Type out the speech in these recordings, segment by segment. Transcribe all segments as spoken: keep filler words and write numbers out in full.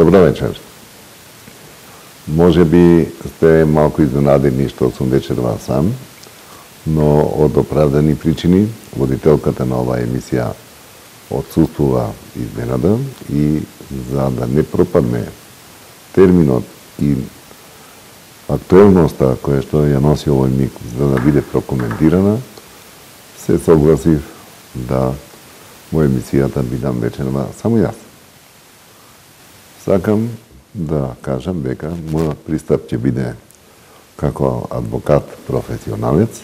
Добро вечер. Може би сте малку изненадени што сум вечерва сам, но од оправдани причини водителката на оваа емисија отсуствува изненада и за да не пропадне терминот и актуелноста која што ја носи овој миг за да биде прокоментирана, се согласив да во емисијата бидам вечерва само јас. Сакам да кажам дека мојот пристап ќе биде како адвокат професионалец.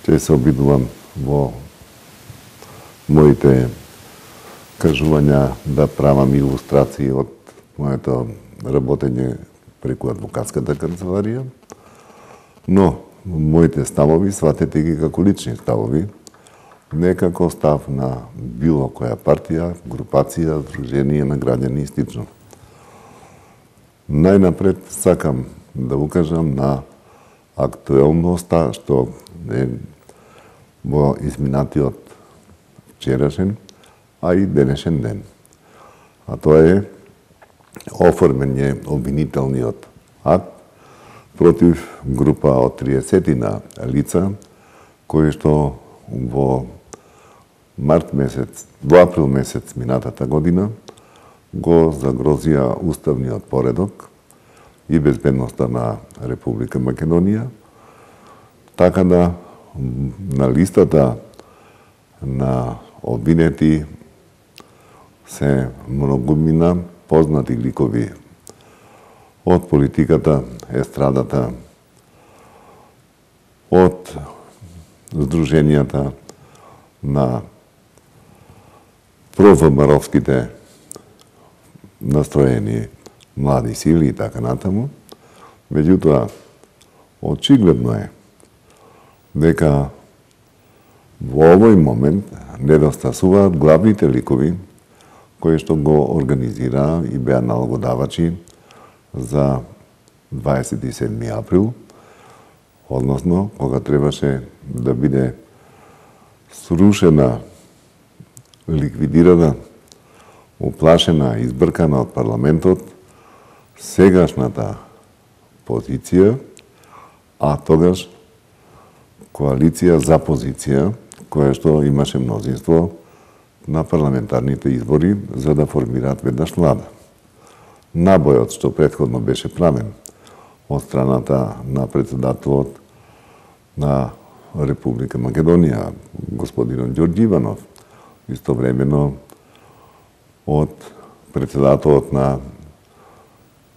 Ќе се обидувам во моите кажувања да правам илустрации од моето работење преку адвокатската канцеларија, но моите ставови сватете ги како лични ставови, не како став на било која партија, групација, здружение на граѓани и слично. Најнапред сакам да укажам на актуелноста што е во изминатиот вчерашен, а и денешен ден. А тоа е оформење обвинителниот акт против група од триесетина лица кои што во март месец, во април месец минатата година го загрозија уставниот поредок и безбедноста на Република Македонија, така да на листата на обвинети се многумина познати ликови од политиката, естрадата, од здруженијата на провмаровските настроени млади сили и така натаму. Меѓутоа, очигледно е дека во овој момент недостасуваат главните ликови кои што го организираа и беа налогодавачи за дваесет и седми април, односно кога требаше да биде срушена, ликвидирана, уплашена, избркана од парламентот сегашната позиција, а тогаш коалиција за позиција, која што имаше мнозинство на парламентарните избори за да формираат веднаш влада. Набојот што претходно беше правен од страната на председателот на Република Македонија, господинот Ѓорѓи Иванов, истовремено од председателот на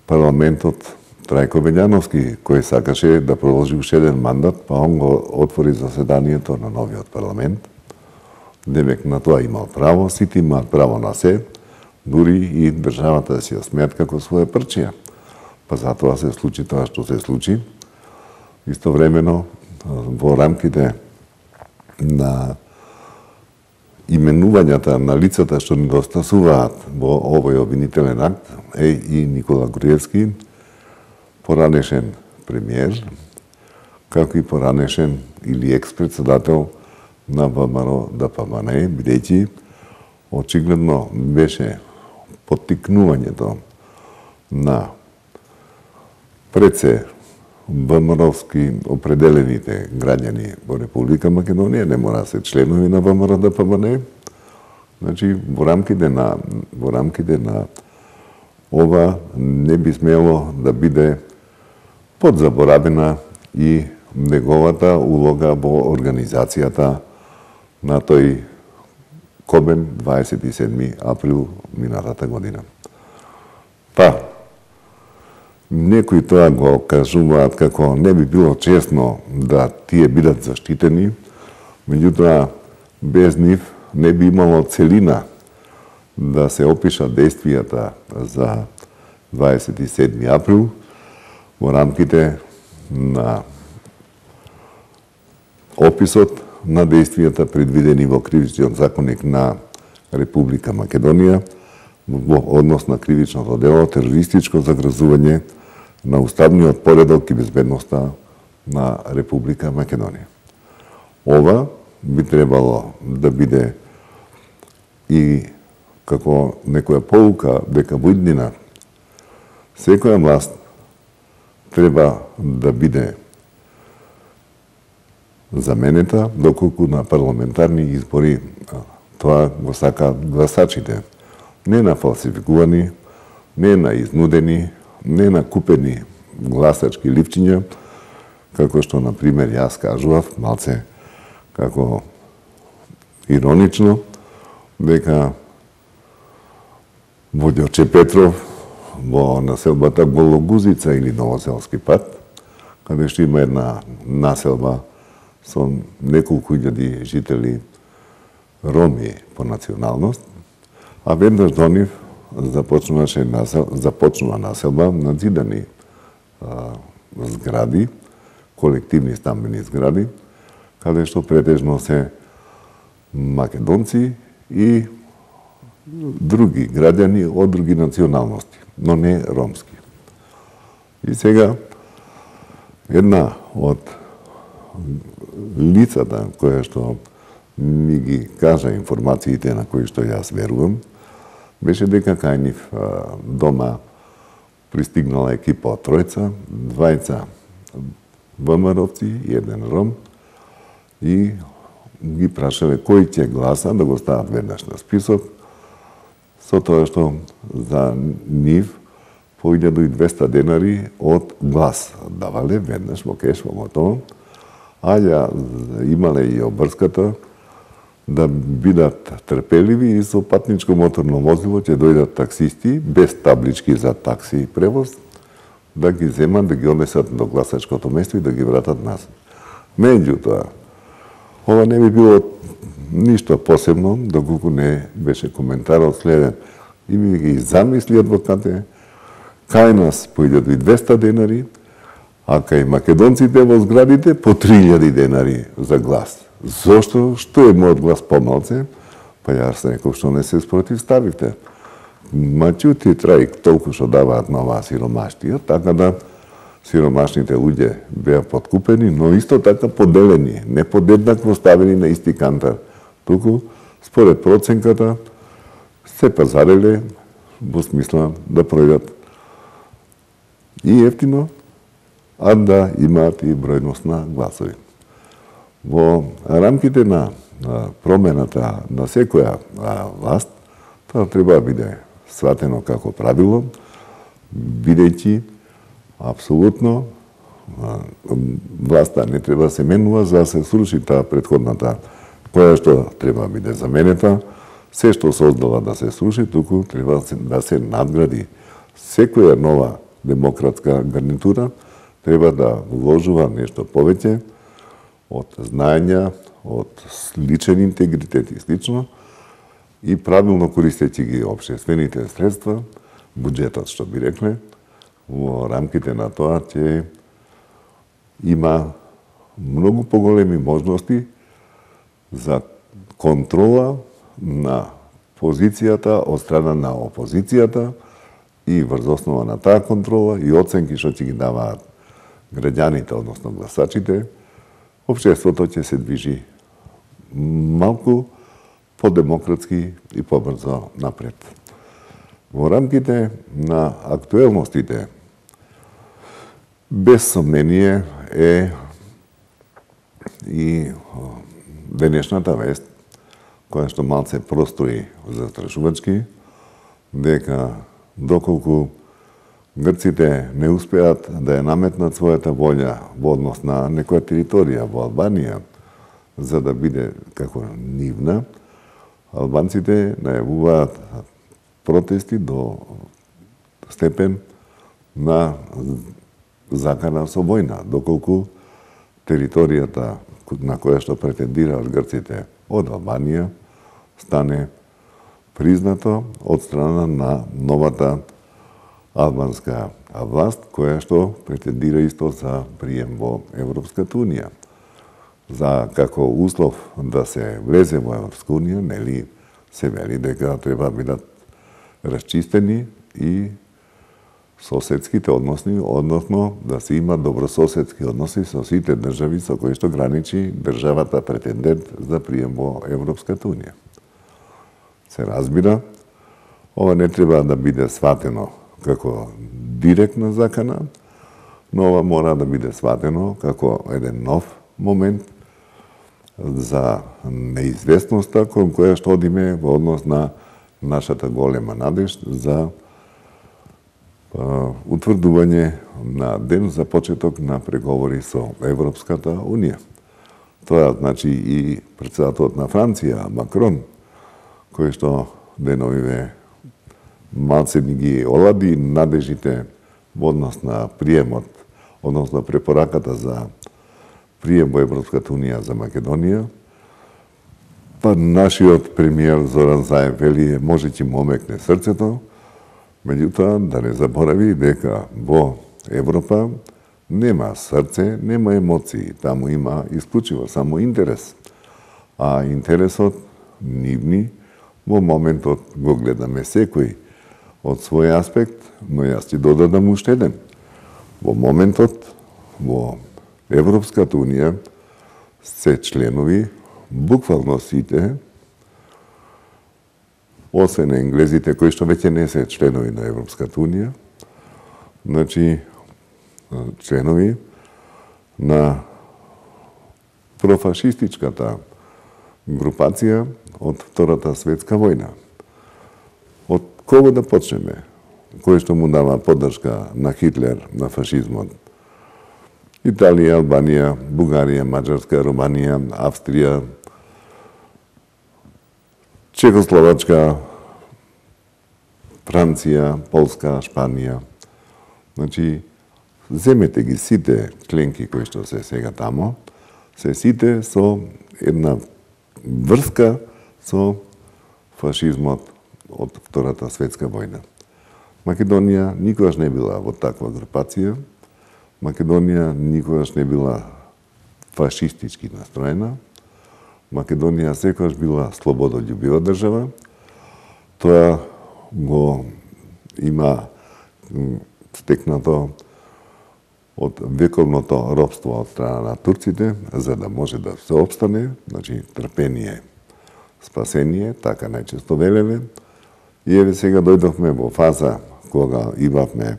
парламентот Трајко Белјановски, кој сакаше да продолжи уште еден мандат, па он го отвори заседанието на новиот парламент. Демек на тоа имал право, сите имаат право на се, дури и државата да си ја смеат како своја прчија. Па затоа се случи тоа што се случи. Истовремено, во рамките на именувањата на лицата што недостасуваат во овој обвинителен акт е и Никола Груевски, поранешен премиер, како и поранешен или екс-председател на ВМРО Д П М Н, бидејќи очигледно беше поттикнувањето на пред се ВМРО-вски определените граѓани во Република Македонија, не мора да се членови на ВМРО Д П М Н. Значи, во рамките на во рамките на ова не би смело да биде подзаборавена и неговата улога во организацијата на тој кобен дваесет и седми април минатата година. Па, некои тоа го кажуваат како не би било честно да тие бидат заштитени, меѓутоа без нив не би имало целина да се опишат действијата за дваесет и седми април во рамките на описот на действијата предвидени во Кривичниот законник на Република Македонија во однос на кривичното дело терористичко загрозување на уставниот поредок и безбедноста на Република Македонија. Ова би требало да биде и како некоја поука дека во иднина Секоја власт треба да биде заменета доколку на парламентарни избори тоа го сакаат гласачите. Не на фалсификувани, не на изнудени, не на купени гласачки ливчиња, како што, на пример, јас кажував, малце како иронично, дека во Ѓорче Петров, во населбата Гологузица или Новоселски пат, каде што има една населба со неколку илјади жители роми по националност, а веднаш до нив започнуваше насел, започнува населба на зидани а, згради, колективни стамбени згради, каде што претежно се македонци и други граѓани од други националности, но не ромски. И сега една од лицата која што ми ги кажа информациите на кои што јас верувам, беше дека кај нив дома пристигнала екипа од тројца, двајца ВМРО-вци и еден ром, и ги прашале кој ќе гласа, да го стават веднаш на список, со тоа што за нив по илјада и двесте денари од глас давале веднаш во кеш, во готово, а ја имале и обрската да бидат трпеливи и со патничко моторно возило ќе дојдат таксисти без таблички за такси и превоз, да ги земат, да ги однесат до гласачкото место и да ги вратат назад. Меѓутоа, ова не би било ништо посебно, доколку не беше коментарот следен. И ми ги замисли адвокате, кај нас по илјада и двесте денари, а кај македонците во зградите по три илјади денари за глас. Зошто? Што е мојот глас помалце? Па јас реков, што не се спротивставивте. Мачути траик толку што даваат на оваа сиромаштија, така да сиромашните луѓе беа подкупени, но исто така поделени, не подеднакво ставени на исти кантар. Туку, според проценката, се пазареле во смисла да пројдат и ефтино, а да имаат и бројност на гласови. Во рамките на промената на секоја власт, тоа треба да биде сватено како правило, бидејќи апсолутно власта не треба да се менува за да се сруши таа претходната, која што треба да биде заменета, се што создала да се сруши, туку треба да се надгради. Секоја нова демократска гарнитура треба да вложува нешто повеќе од знаења, од личен интегритет и слично, и правилно користејќи ги општествените средства, буџетот што би рекле, во рамките на тоа ќе има многу поголеми можности за контрола на позицијата од страна на опозицијата и врз основа на таа контрола и оценки што ќе ги даваат граѓаните, односно гласачите, општеството ќе се движи малку подемократски и побрзо напред. Во рамките на актуелностите, без сомнение е и денешната вест, која што малце простори застрашувачки, дека доколку грците не успеат да ја наметнат својата волја во однос на некоја територија во Албанија, за да биде како нивна, албанците најавуваат протести до степен на закана со војна, доколку територијата на која што претендираат грците од Албанија стане признато од страна на новата албанска власт, која што претендира исто за прием во Европската унија. За како услов да се влезе во Европска унија, нели се вели дека треба да бидат расчистени и соседските односи, односно да се има добрососедски односи со сите држави со кои што граничи државата претендент за прием во Европската унија. Се разбира, ова не треба да биде сватено како директна закана, но ова мора да биде сватено како еден нов момент за неизвестноста кон која што одиме во однос на нашата голема надеж за утврдување на ден за почеток на преговори со Европската Унија. Тоа значи и претседателот на Франција, Макрон, кој што деновиве малце ни ги олади надежите во однос на приемот, односно препораката за прием во Европската Унија за Македонија, па нашиот премиер Зоран Заев вели може ќе му омекне срцето, меѓутоа да не заборави дека во Европа нема срце, нема емоции, таму има исклучиво само интерес. А интересот нивни во моментот го гледаме секој од свој аспект, но јас ќе додадам уште еден. Во моментот во Европската Унија се членови буквално сите, освен енглезите кои што веќе не се членови на Европската Унија, значи членови на профашистичката групација од Втората светска војна. Од кого да почнеме? Кој што му дава поддршка на Хитлер, на фашизмот? Италија, Албанија, Бугарија, Маđарска, Романија, Австрија, Чехословачка, Франција, Полска, Шпанија. Значи, земете ги сите членки кои што се сега тамо, се сите со една врска со фашизмот од Втората светска војна. Македонија никогаш не била во таква групација. Македонија никогаш не била фашистички настроена. Македонија секогаш била слободолюбива држава. Тоа го има стекнато од вековното робство од страна на турците, за да може да се обстане, значи трпение, спасение, така најчесто велеле. И еве сега дојдовме во фаза кога имавме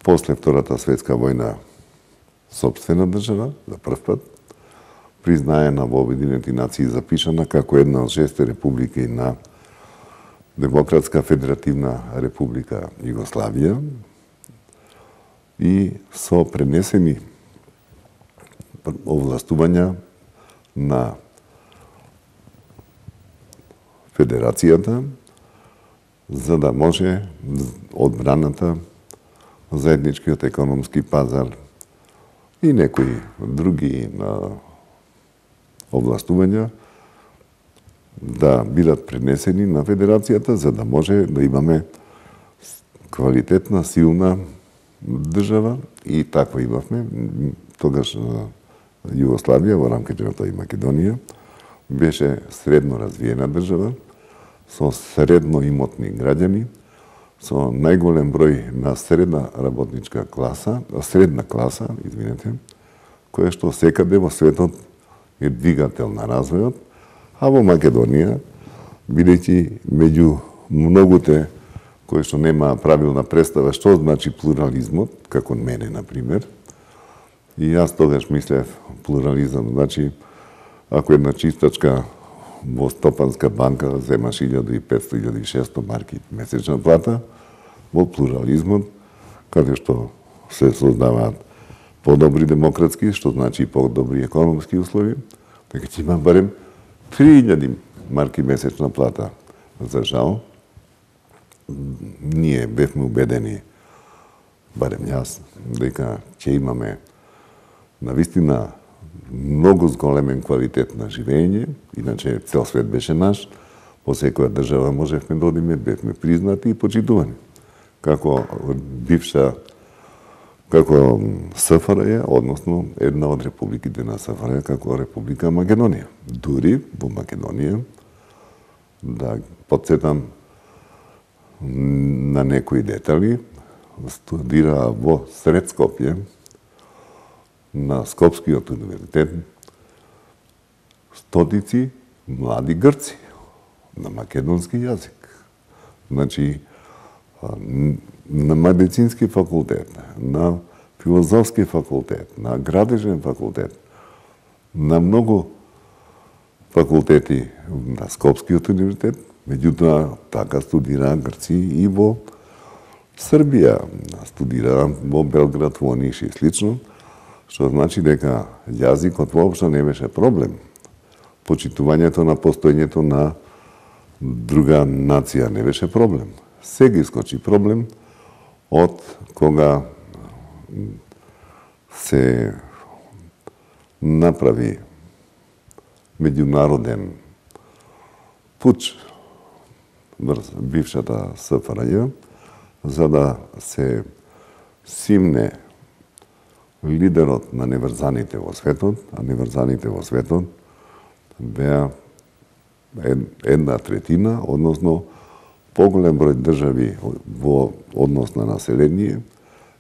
после Втората светска војна сопствена држава, за прв пат, признаена во Обединените нации, запишана како една од шесте републики на Демократска федеративна република Југославија и со пренесени овластувања на Федерацијата за да може одбраната, заедничкиот економски пазар и некои други овластувања да бидат пренесени на Федерацијата, за да може да имаме квалитетна, силна држава и таква имавме. Тогаш Југославија во рамките на тоа и Македонија беше средно развиена држава со средно имотни граѓани, со најголем број на средна работничка класа, средна класа, извинете, која што секаде во светот е двигател на развојот, а во Македонија, бидејќи меѓу многуте кои што нема правилна представа што значи плурализмот, како мене, например, и јас тогаш мислев плурализам, значи, ако една чистачка во Стопанска банка земаш илјада и петсто до илјада и шесто марки месечна плата, во плурализмот, каде што се создаваат подобри демократски, што значи подобри економски услови, дека ќе има барем три илјади марки месечна плата. За жал, ние бевме убедени, барем јас, дека ќе имаме навистина многу зголемен квалитет на живење, иначе цел свет беше наш, во секоја држава можевме да одиме, бевме признати и почитувани. Како бивша, како СФРЈ, односно една од републиките на СФРЈ, како Република Македонија. Дури во Македонија, да подсетам на некои детали, студира во сред Скопје, на Скопскиот универзитет, стотици млади грци на македонски јазик. Значи, на медицински факултет, на филозофски факултет, на градежен факултет, на многу факултети на Скопскиот универзитет, меѓутоа така студира Грци и во Србија, студира во Белград, во Ниш и слично, што значи дека јазикот воопшто не беше проблем. Почитувањето на постоењето на друга нација не беше проблем. Сега искочи проблем од кога се направи меѓународен пуч врз бившата СФРЈ, за да се симне лидерот на неврзаните во светот, а неврзаните во светот беа една третина, односно поголем број држави во однос на население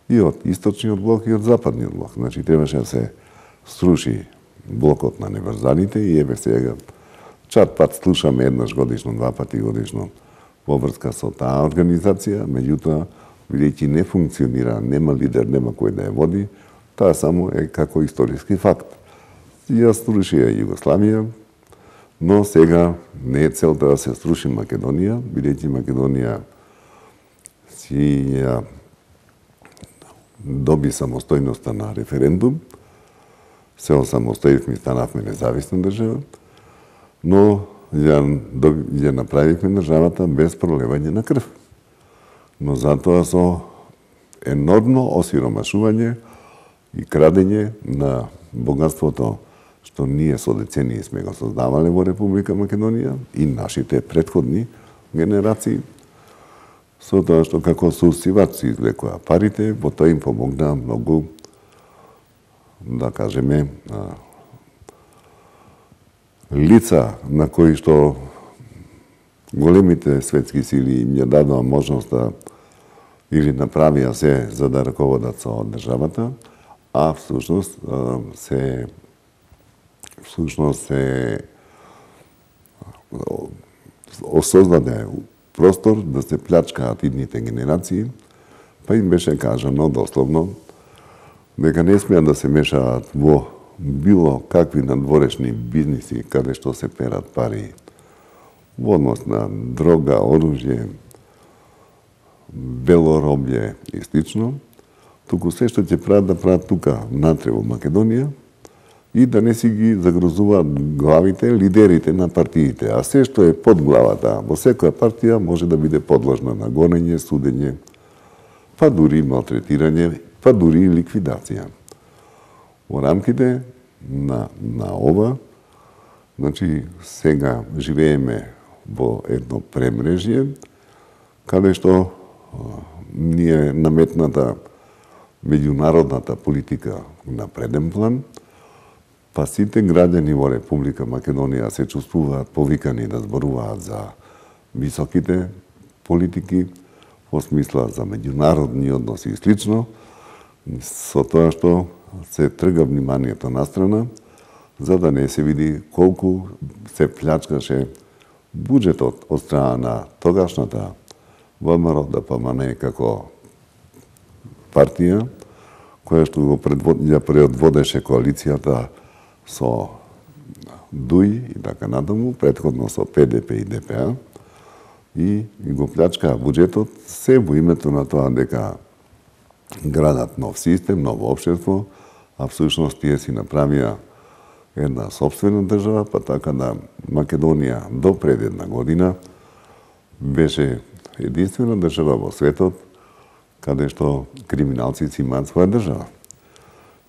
и од источниот блок и од западниот блок. Значи требаше да се сруши блокот на неврзаните и еве сега чат пат слушаме еднаш годишно, два пати годишно во врска со таа организација, меѓутоа бидејќи не функционира, нема лидер, нема кој да ја води, таа само е како историски факт. Ја сруши ја Југославија, но сега не е целта да се сруши Македонија, бидејќи Македонија си ја доби самостојноста на референдум, се осамостоивме и станавме независна држава, но ја, ја направивме државата без пролевање на крв. Но затоа со енормно осиромашување и крадење на богатството што ние со децении сме го создавале во Република Македонија и нашите претходни генерации, со тоа што како соусивач се извлекоа парите, во тоа им помогна многу, да кажеме, лица на кои што големите светски сили им ја дадоа можност да или направија се за да раководат со државата, а всушност се всушност се осоздаде простор да се плячкаат идните генерации, па им беше кажано дословно дека не смеат да се мешаат во било какви надворешни бизниси каде што се перат пари во однос на дрога, оружје, белороблје и слично, туку се што ќе прават да прават тука внатре во Македонија и да не си ги загрозуваат главите, лидерите на партиите, а се што е под главата во секоја партија може да биде подложна на гонење, судење, па дури малтретирање, па дури ликвидација. Во рамките на, на ова, значи сега живееме во едно премрежје, каде што ни е наметната меѓународната политика на преден план, па сите граѓани во Република Македонија се чувствуваат повикани да зборуваат за високите политики, во смисла за меѓународни односи и слично, со тоа што се трга вниманието на страна, за да не се види колку се плячкаше буџетот од страна на тогашната ВМРО Д П М Н како партија, која што го ја предводеше коалицијата со ДУИ и така натаму, претходно со П Д П и Д П А, и го плячкаа буџетот се во името на тоа дека градат нов систем, ново општество, а всушност тие си направија една собствена држава, па така да Македонија до пред една година беше единствена држава во светот каде што криминалци си имаат своја држава.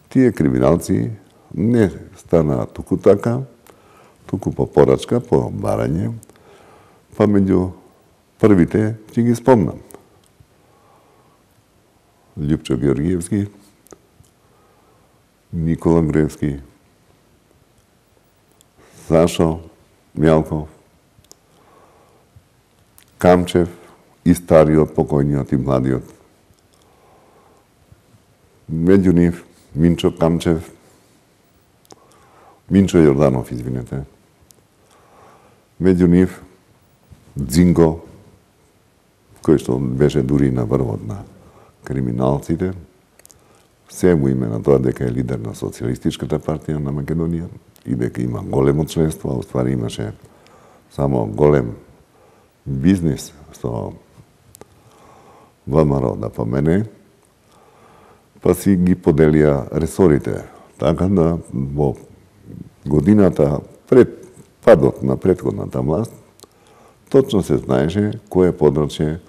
Тие криминалци не станаа туку така, туку по порачка, по барање, па меѓу првите ќе ги спомнам. Љупчо Георгиевски, Никола Груевски, Сашо Мјалков, Камчев и стариот, покојниот и младиот. Меѓу нив Минчо Камчев, Минчо Јорданов, извинете. Меѓу нив Дзинго, кој што беше дури на врвот на криминалците, се му име на тоа дека е лидер на Социјалистичката партија на Македонија и дека има големо членство, а уствари имаше само голем бизнис со ВМРО да помене, па си ги поделија ресорите. Така да во годината пред падот на претходната власт, точно се знаеше кој е подрачје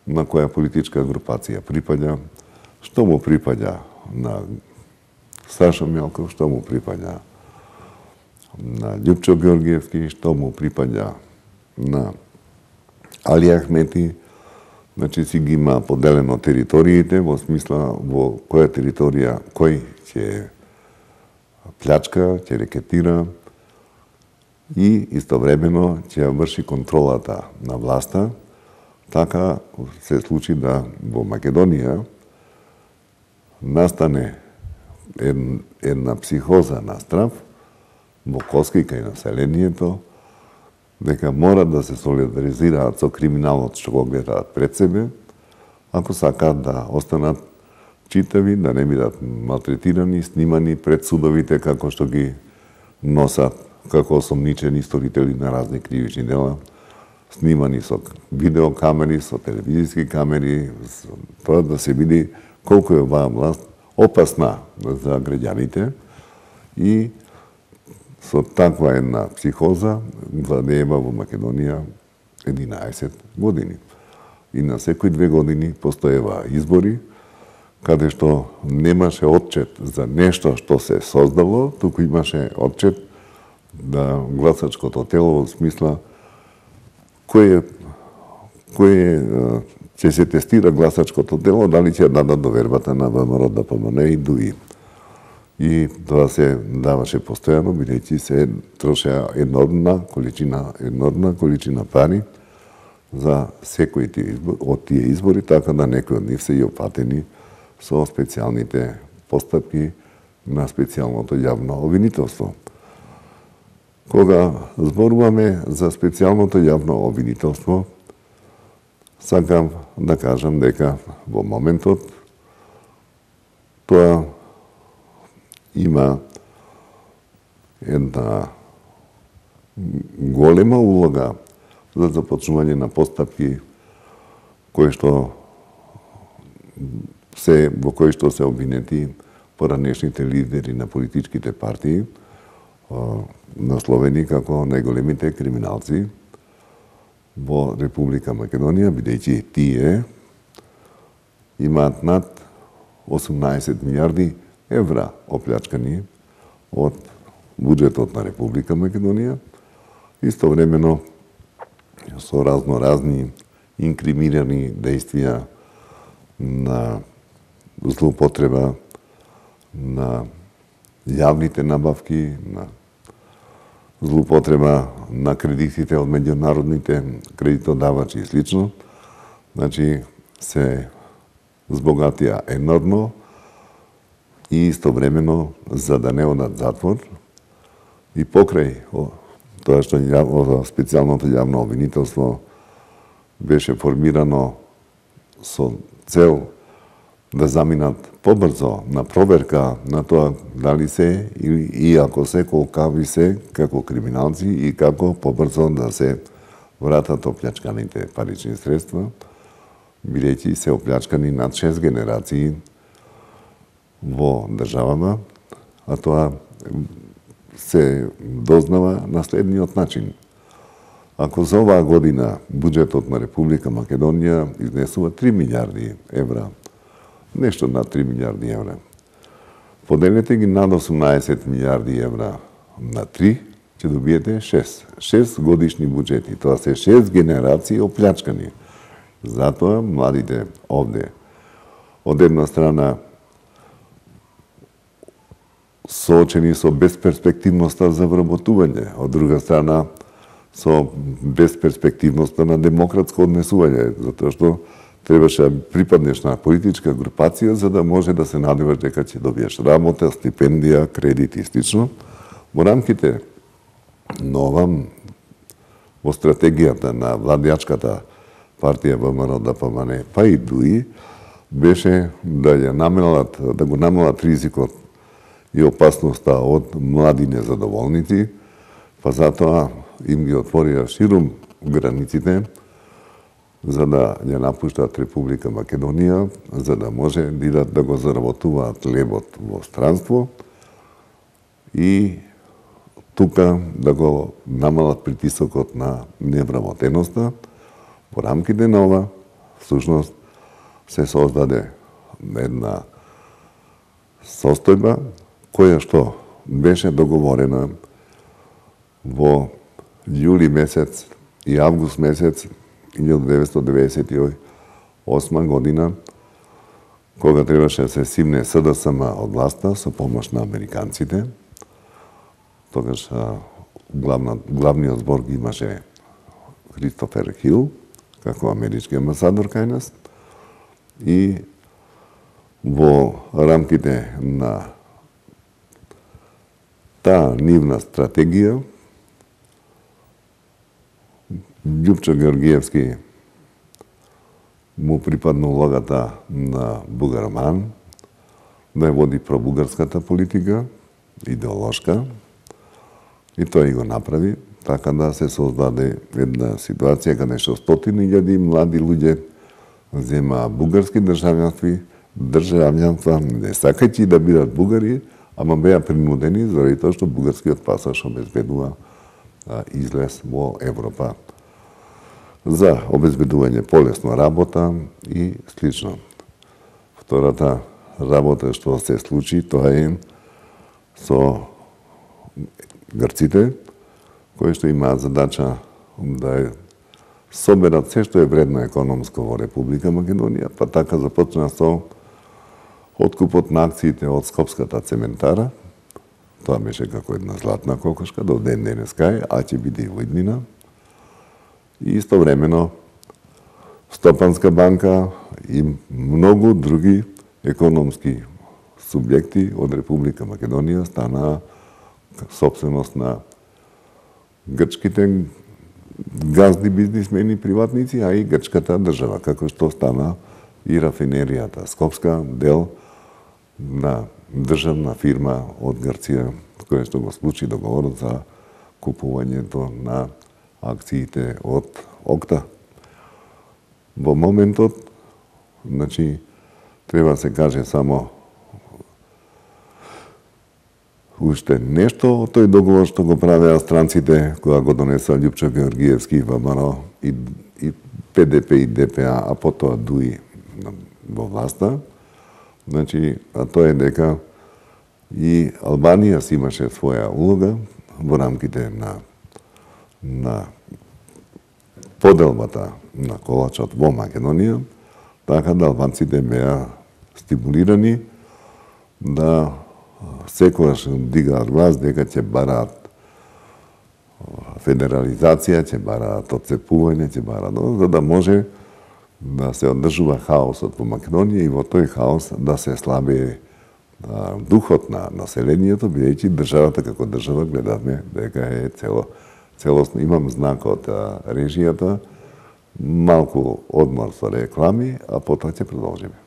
на која политичка групација припаѓа, што му припаѓа на Сашо Мјалков, што му припаѓа на Љупчо Георгиевски, што му припаѓа на Али Ахмети. Значи си ги има поделено териториите во смисла во која територија кој ќе плячка, ќе рекетира и истовремено ќе врши контролата на власта. Така се случи да во Македонија настане една психоза на страв во Коски кај населението, дека мора да се солидаризираат со криминалот што го гледаат пред себе, ако сакаат да останат читави, да не бидат малтретирани, снимани пред судовите како што ги носат како осомничени сторители на разни кривични дела, снимани со видеокамери, со телевизиски камери, тоа да се види колку е оваа власт опасна за граѓаните и со таква една психоза владеева во Македонија единаесет години. И на секои две години постоева избори, каде што немаше отчет за нешто што се создало, туку имаше отчет да гласачкото тело во смисла кој е кој е ќе се тестира гласачкото тело, дали ќе дадат довербата на ВМРО да помане и ДУИ. И тоа се даваше постојано, бидејќи се трошеа енормна количина, енормна количина пари за секој од тие избори, така да некои од нив се и опатени со специјалните постапки на специјалното јавно обвинителство. Кога зборуваме за специјалното јавно обвинителство, сакам да кажам дека во моментот тоа има една голема улога за започнување на постапки кои што се во кои што се обвинети поранешните лидери на политичките партии, насловени како најголемите криминалци во Република Македонија, бидејќи тие имаат над осумнаесет милиарди евра оплячкани од буџетот на Република Македонија, истовремено со разноразни инкриминирани дејствија на злоупотреба на јавните набавки, на злоупотреба на кредитите од меѓународните кредитодавачи и слично. Значи, се збогатија енормно и истовремено, за да не одат затвор, и покрај тоа што специјалното јавно обвинителство беше формирано со цел да заминат побрзо на проверка на тоа дали се или и ако се колкави се како криминалци и како побрзо да се вратат оплячканите парични средства, бидејќи се оплячкани над шест генерации во државама, а тоа се дознава на следниот начин. Ако за оваа година буџетот на Република Македонија изнесува три милиарди евра, нешто над три милиарди евра, поделете ги над осумнаесет милиарди евра на три, ќе добиете шест. шест годишни буџети. Тоа се шест генерации оплячкани. Затоа младите овде, од една страна, соочени со безперспективноста за вработување, од друга страна, со безперспективноста на демократско однесување, затоа што требаше да припаднеш на политичка групација за да може да се надеваш дека ќе добиеш работа, стипендија, кредит и слично. Во рамките на ова, во стратегијата на владеачката партија ВМРО Д П М Н, па и ДУИ, беше да ја намалат, да го намалат ризикот и опасноста од млади незадоволници, па затоа им ги отворија ширум границите за да ја напуштат Република Македонија, за да може да идат да го заработуваат лебот во странство и тука да го намалат притисокот на невработеноста. По рамките на ова, всушност, се создаде една состојба која што беше договорена во јули месец и август месец илјадум деветстотини деветдесет и осма година, кога требаше да се симне С Д С М од власта со помош на американците. Тогаш главна, главниот збор ги имаше Кристофер Хил, како амерички амбасадор кај нас. И во рамките на таа нивна стратегија, Љупчо Георгиевски му припадна улогата на бугароман, да ја води пробугарската политика, идеолошка, и тој го направи, така да се создаде една ситуација каде што стотини илјади млади луѓе зема бугарски државјанства, државјанства, не сакајќи да бидат бугари, ама беа принудени заради тоа што бугарскиот пасош обезбедува излез во Европа за обезбедување полесно работа и слично. Втората работа што се случи, тоа е со грците, кои што имаат задача да соберат се што е вредно економско во Република Македонија, па така започна со откупот на акциите од Скопската цементара. Тоа беше како една златна кокошка, до ден денеска е, а ќе биде и во иднина. И истовремено Стопанска банка и многу други економски субјекти од Република Македонија стана собственост на грчките газди бизнисмени, приватници, а и грчката држава, како што стана и рафинеријата Скопска, дел на државна фирма од Грција, која што го случи договорот за купувањето на акциите од ОКТА. Во моментот, значи, треба се каже само уште нешто од тој договор што го правеа странците кога го донесува Љупчо Георгиевски во МНО и, и П Д П и Д П А, а потоа ДУИ во власта. Значи, а тоа е дека и Албанија си имаше своја улога во рамките на на поделбата на колачот во Македонија, така да албанците беа стимулирани да секогаш дигаат глас дека ќе бараат федерализација, ќе бараат отцепување, ќе бараат, за да може да се одржува хаосот во Македонија и во тој хаос да се слабее духот на населението, бидејќи државата како држава гледавме дека е цело целосно. Имам знак од режијата, малку одмор со реклами, а потоа ќе продолжиме.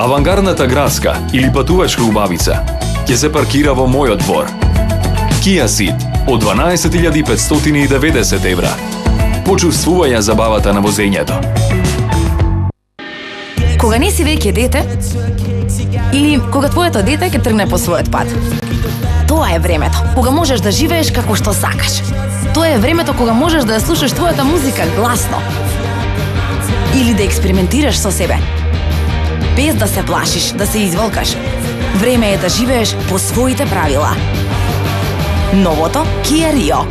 Авангардната градска или патувачка убавица ќе се паркира во мојот двор. Kia Ceed од дванаесет илјади петстотини и деветдесет евра. Почувствувај ја забавата на возењето. Кога не си веќе дете, или кога твоето дете ќе тргне по својот пат. Тоа е времето кога можеш да живееш како што сакаш. Тоа е времето кога можеш да ја слушаш твојата музика гласно. Или да експериментираш со себе. без да се плашиш, да се изволкаш. Време е да живееш по своите правила. Новото Kia Rio.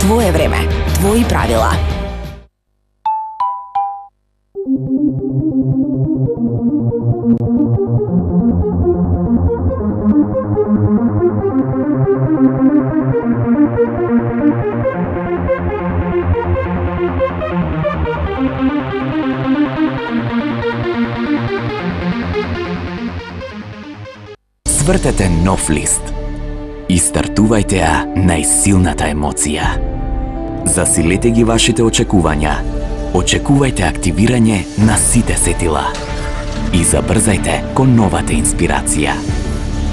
Твое време, твои правила. Свртете нов лист и стартувајте ја најсилната емоција. Засилете ги вашите очекувања. Очекувајте активирање на сите сетила. И забрзајте кон новата инспирација.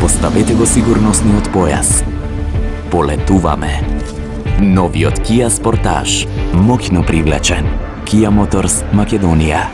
Поставете го сигурносниот појас. Полетуваме. Новиот Kia Sportage, моќно привлечен. Kia Motors Македонија.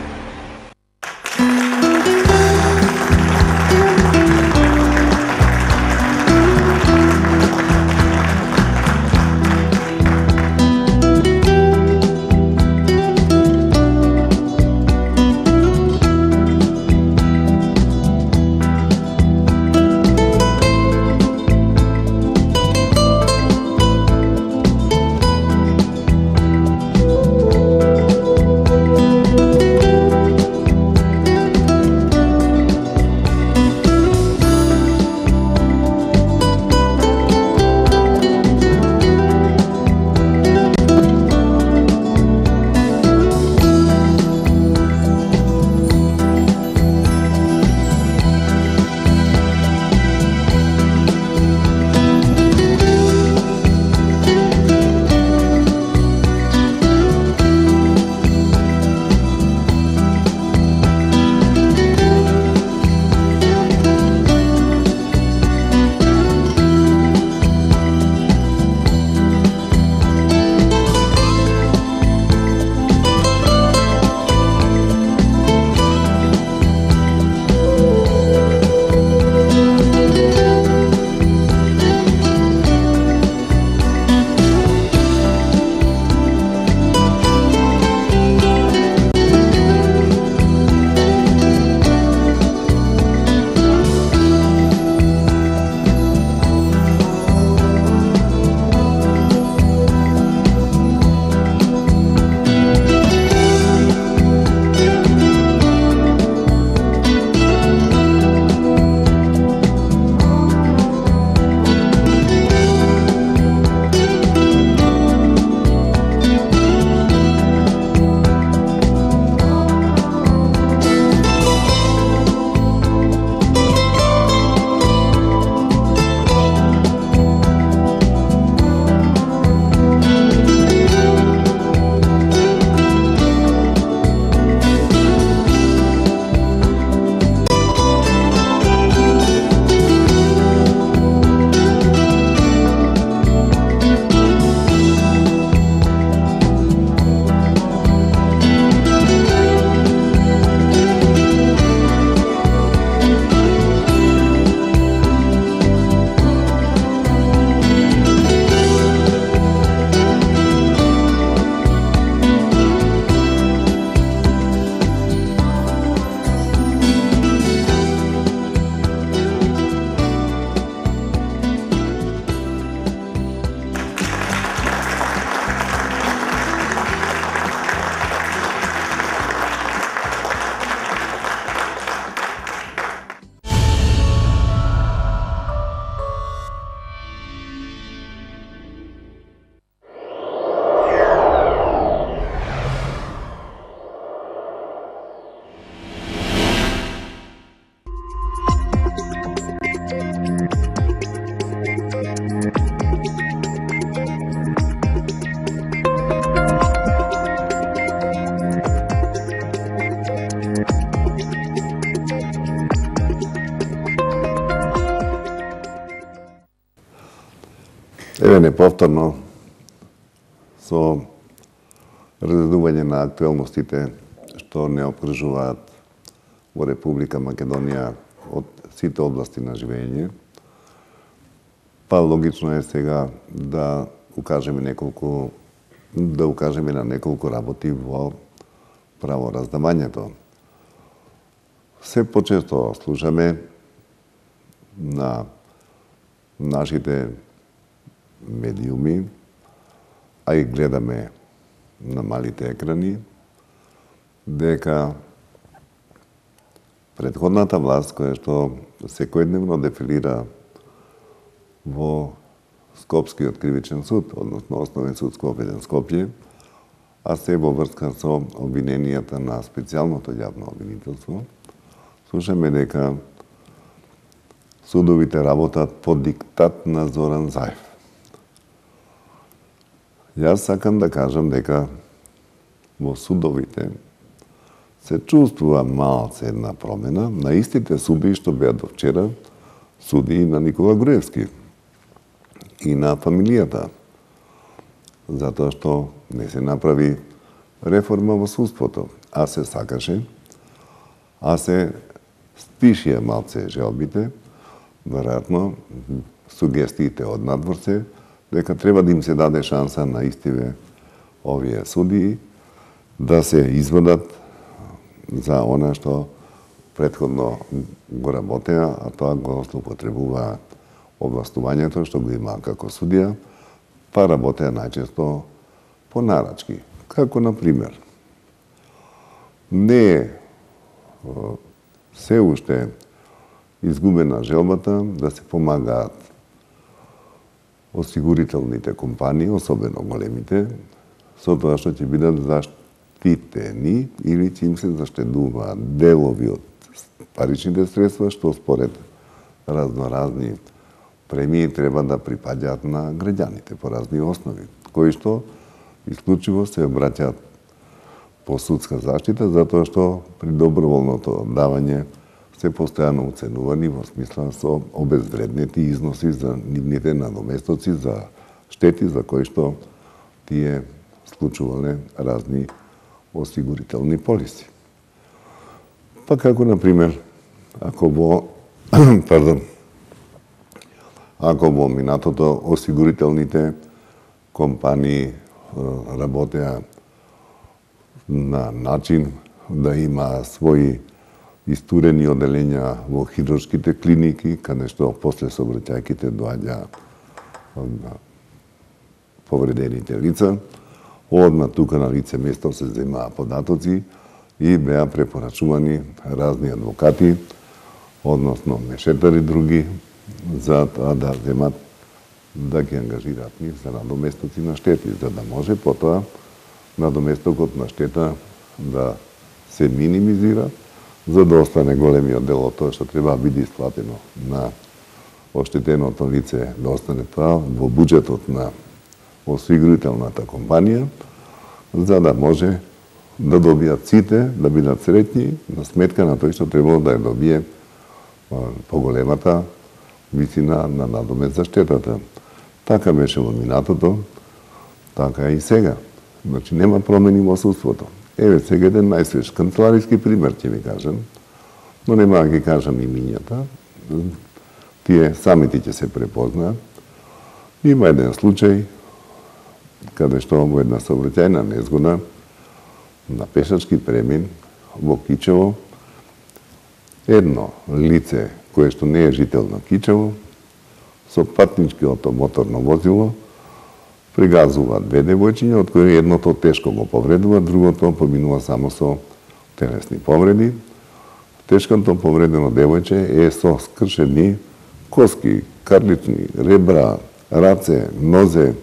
Еве неповторно со разгледување на актуелностите што не обкружуваат во Република Македонија од сите области на живење, па логично е сега да укажеме неколку да укажеме на неколку работи во правораздавањето. се почесто слушаме на нашите медиуми, а и гледаме на малите екрани, дека претходната власт, која што секојдневно дефилира во Скопскиот кривичен суд, односно Основен суд Скопје, Скопје, а се во врска со обвиненијата на специјалното јавно обвинителство, слушаме дека судовите работат по диктат на Зоран Заев. Јас сакам да кажам дека во судовите се чувствува малце една промена на истите суди што беа до вчера суди на Никола Груевски и на фамилијата, затоа што не се направи реформа во судството, а се сакаше, а се стишија малце желбите, веројатно сугестиите од надвор се, дека треба да им се даде шанса на истиве овие судии да се извадат за она што претходно го работеа, а тоа го злоупотребуваа овластувањето што го имаа како судија, па работеа најчесто по нарачки. Како, на пример, не е се уште изгубена желбата да се помагаат осигурителните компании, особено големите, со тоа што ќе бидат заштитени или ќе им се заштедуваат делови од паричните средства, што според разноразни премии треба да припаѓаат на граѓаните по разни основи, кои што исклучиво се обраќаат по судска заштита, затоа што при доброволното давање се постојано оценувани во смисла со обезвреднети износи за нивните надоместоци, за штети за кои што тие склучувале разни осигурителни полиси. Па како, на пример, ако во пардон, ако во минатото осигурителните компании работеа на начин да има своји истурени оделења во хируршките клиники, каде што после сообраќајките доаѓа повредените лица, одма тука на лице место се земаа податоци и беа препорачувани разни адвокати, односно мешетари други, за тоа да земат да ги ангажираат нив за надоместоци на штети, за да може потоа надоместокот на штета да се минимизира, за да остане големиот дел од тоа што треба да биде исплатено на оштетеното лице, да остане тоа во буџетот на осигурителната компанија, за да може да добијат сите, да бидат среќни, на сметка на тој што требало да ја добие поголемата висина на надомест за штетата. Така беше во минатото, така и сега. Значи, нема промени во судството. Еве, сега еден најсвеж канцелариски пример ќе ви кажам, но нема да ги кажам имињата. Тие самите ќе се препознаат. Има еден случај, каде што во една сообраќајна незгода на пешачки премин во Кичево, едно лице кое што не е жител на Кичево, со патничкото моторно возило, пригазува две девојчиња, од кои едното тешко го повредува, другото поминува само со телесни повреди. Тешкото повредено девојче е со скршени коски, карлични, ребра, раце, нозе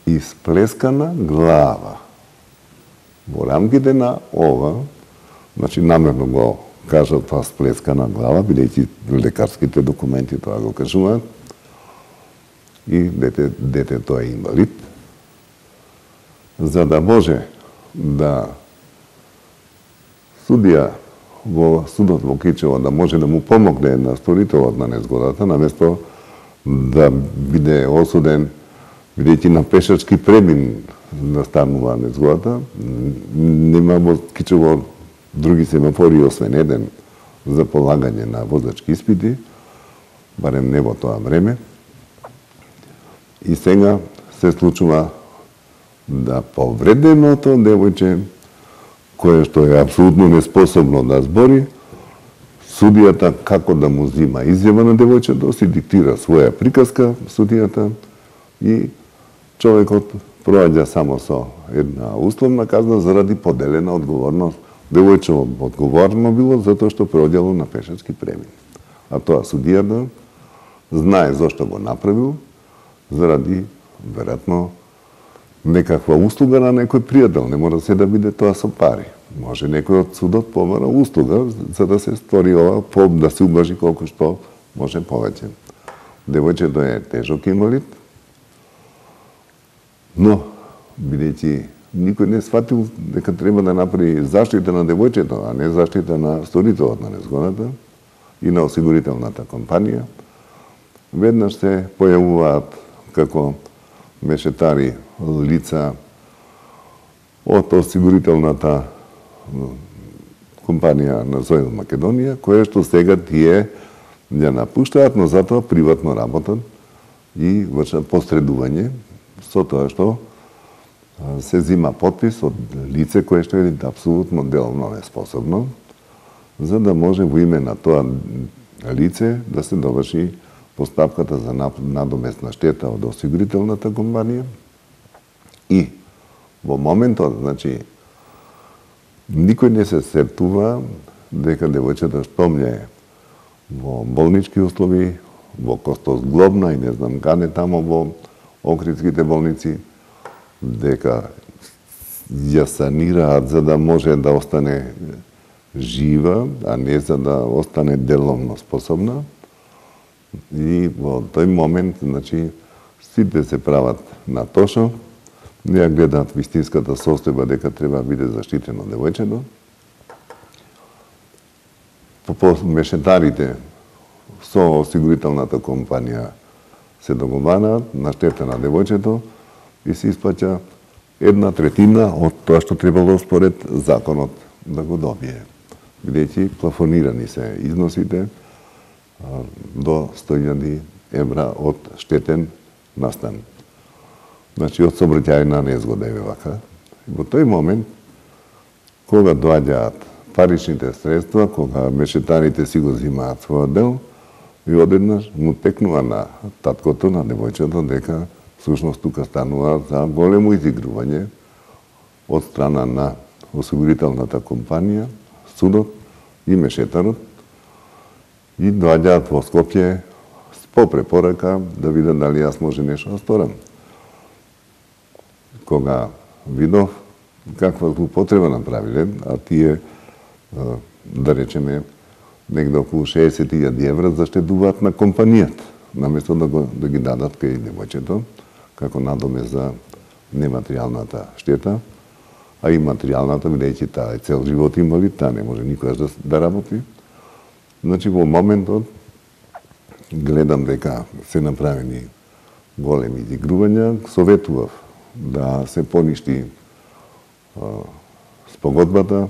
и сплескана глава. Во рамките на ова, значи намерно го кажа тоа сплескана глава, бидејќи лекарските документи тоа го кажуваат, и дете, детето е инвалид, за да може да судија во судот во Кичево да може да му помогне на сторителот на незгодата, наместо да биде осуден, бидејќи на пешачки премин настанува незгодата, нема во Кичево други семафори освен еден за полагање на возачки испити, барем не во тоа време. И сега се случува да повреденото девојче, кое што е апсолутно неспособно да збори, судијата како да му зима изјава на девојчето, си диктира своја приказка судијата и човекот проаѓа само со една условна казна заради поделена одговорност. Девојчево одговорно било затоа што проаѓало на пешачки премин. А тоа судијата знае зошто го направил, заради, веројатно, некаква услуга на некој пријател. Не мора се да биде тоа со пари. Може некој од судот помара услуга за да се стори ова, по, да се убажи колку што може повеќе. Девојчето е тежок инвалид, но, бидејќи никој не сфатил дека треба да направи заштита на девојчето, а не заштита на сторителот на незгодата и на осигурителната компанија, веднаш се појавуваат како мешетари лица од осигурителната компанија на Сојуз Македонија, која што сега тие ја напуштаат, но затоа приватно работат и вршат посредување со тоа што се зима подпис од лице кое што е апсолутно деловно неспособно, за да може во име на тоа лице да се доврши постапката за надоместна штета од осигурителната компанија. И во моментот, значи, никој не се сетува дека девојчето што е во болнички услови, во Костозглобна и не знам каде тамо во Охридските болници, дека ја санираат за да може да остане жива, а не за да остане деловно способна. И во тој момент, значи, сите се прават на тошо, не ја гледаат вистинската состојба дека треба да биде заштитено девојчето. По мешетарите со осигурителната компанија се договараат на штета на девојчето и се исплаќа една третина од тоа што требало според законот да го добие. Бидејќи плафонирани се износите до сто илјади евра од штетен настан. Значи, од сообраќајна незгода е вака. Во тој момент, кога доаѓаат паричните средства, кога мешетарите си го зимаат својот дел, и одеднаш му текнува на таткото, на девојчето, дека всушност тука станува за големо изигрување од страна на осигурителната компанија, судот и мешетарот, и доаѓаат во Скопје по препорака да видат дали јас може нешто да сторам. Кога видов каква злоупотреба направиле, а тие, да речеме, негде околу шеесет илјади евра заштедуваат на компанијата, наместо да, го, да ги дадат кај девојчето, како надоме за нематеријалната штета, а и материјалната, бидејќи таа е цел живот инвалид, таа не може никогаш да, да работи. Значи, во моментот, гледам дека се направени големи изигрувања, советував да се поништи а, спогодбата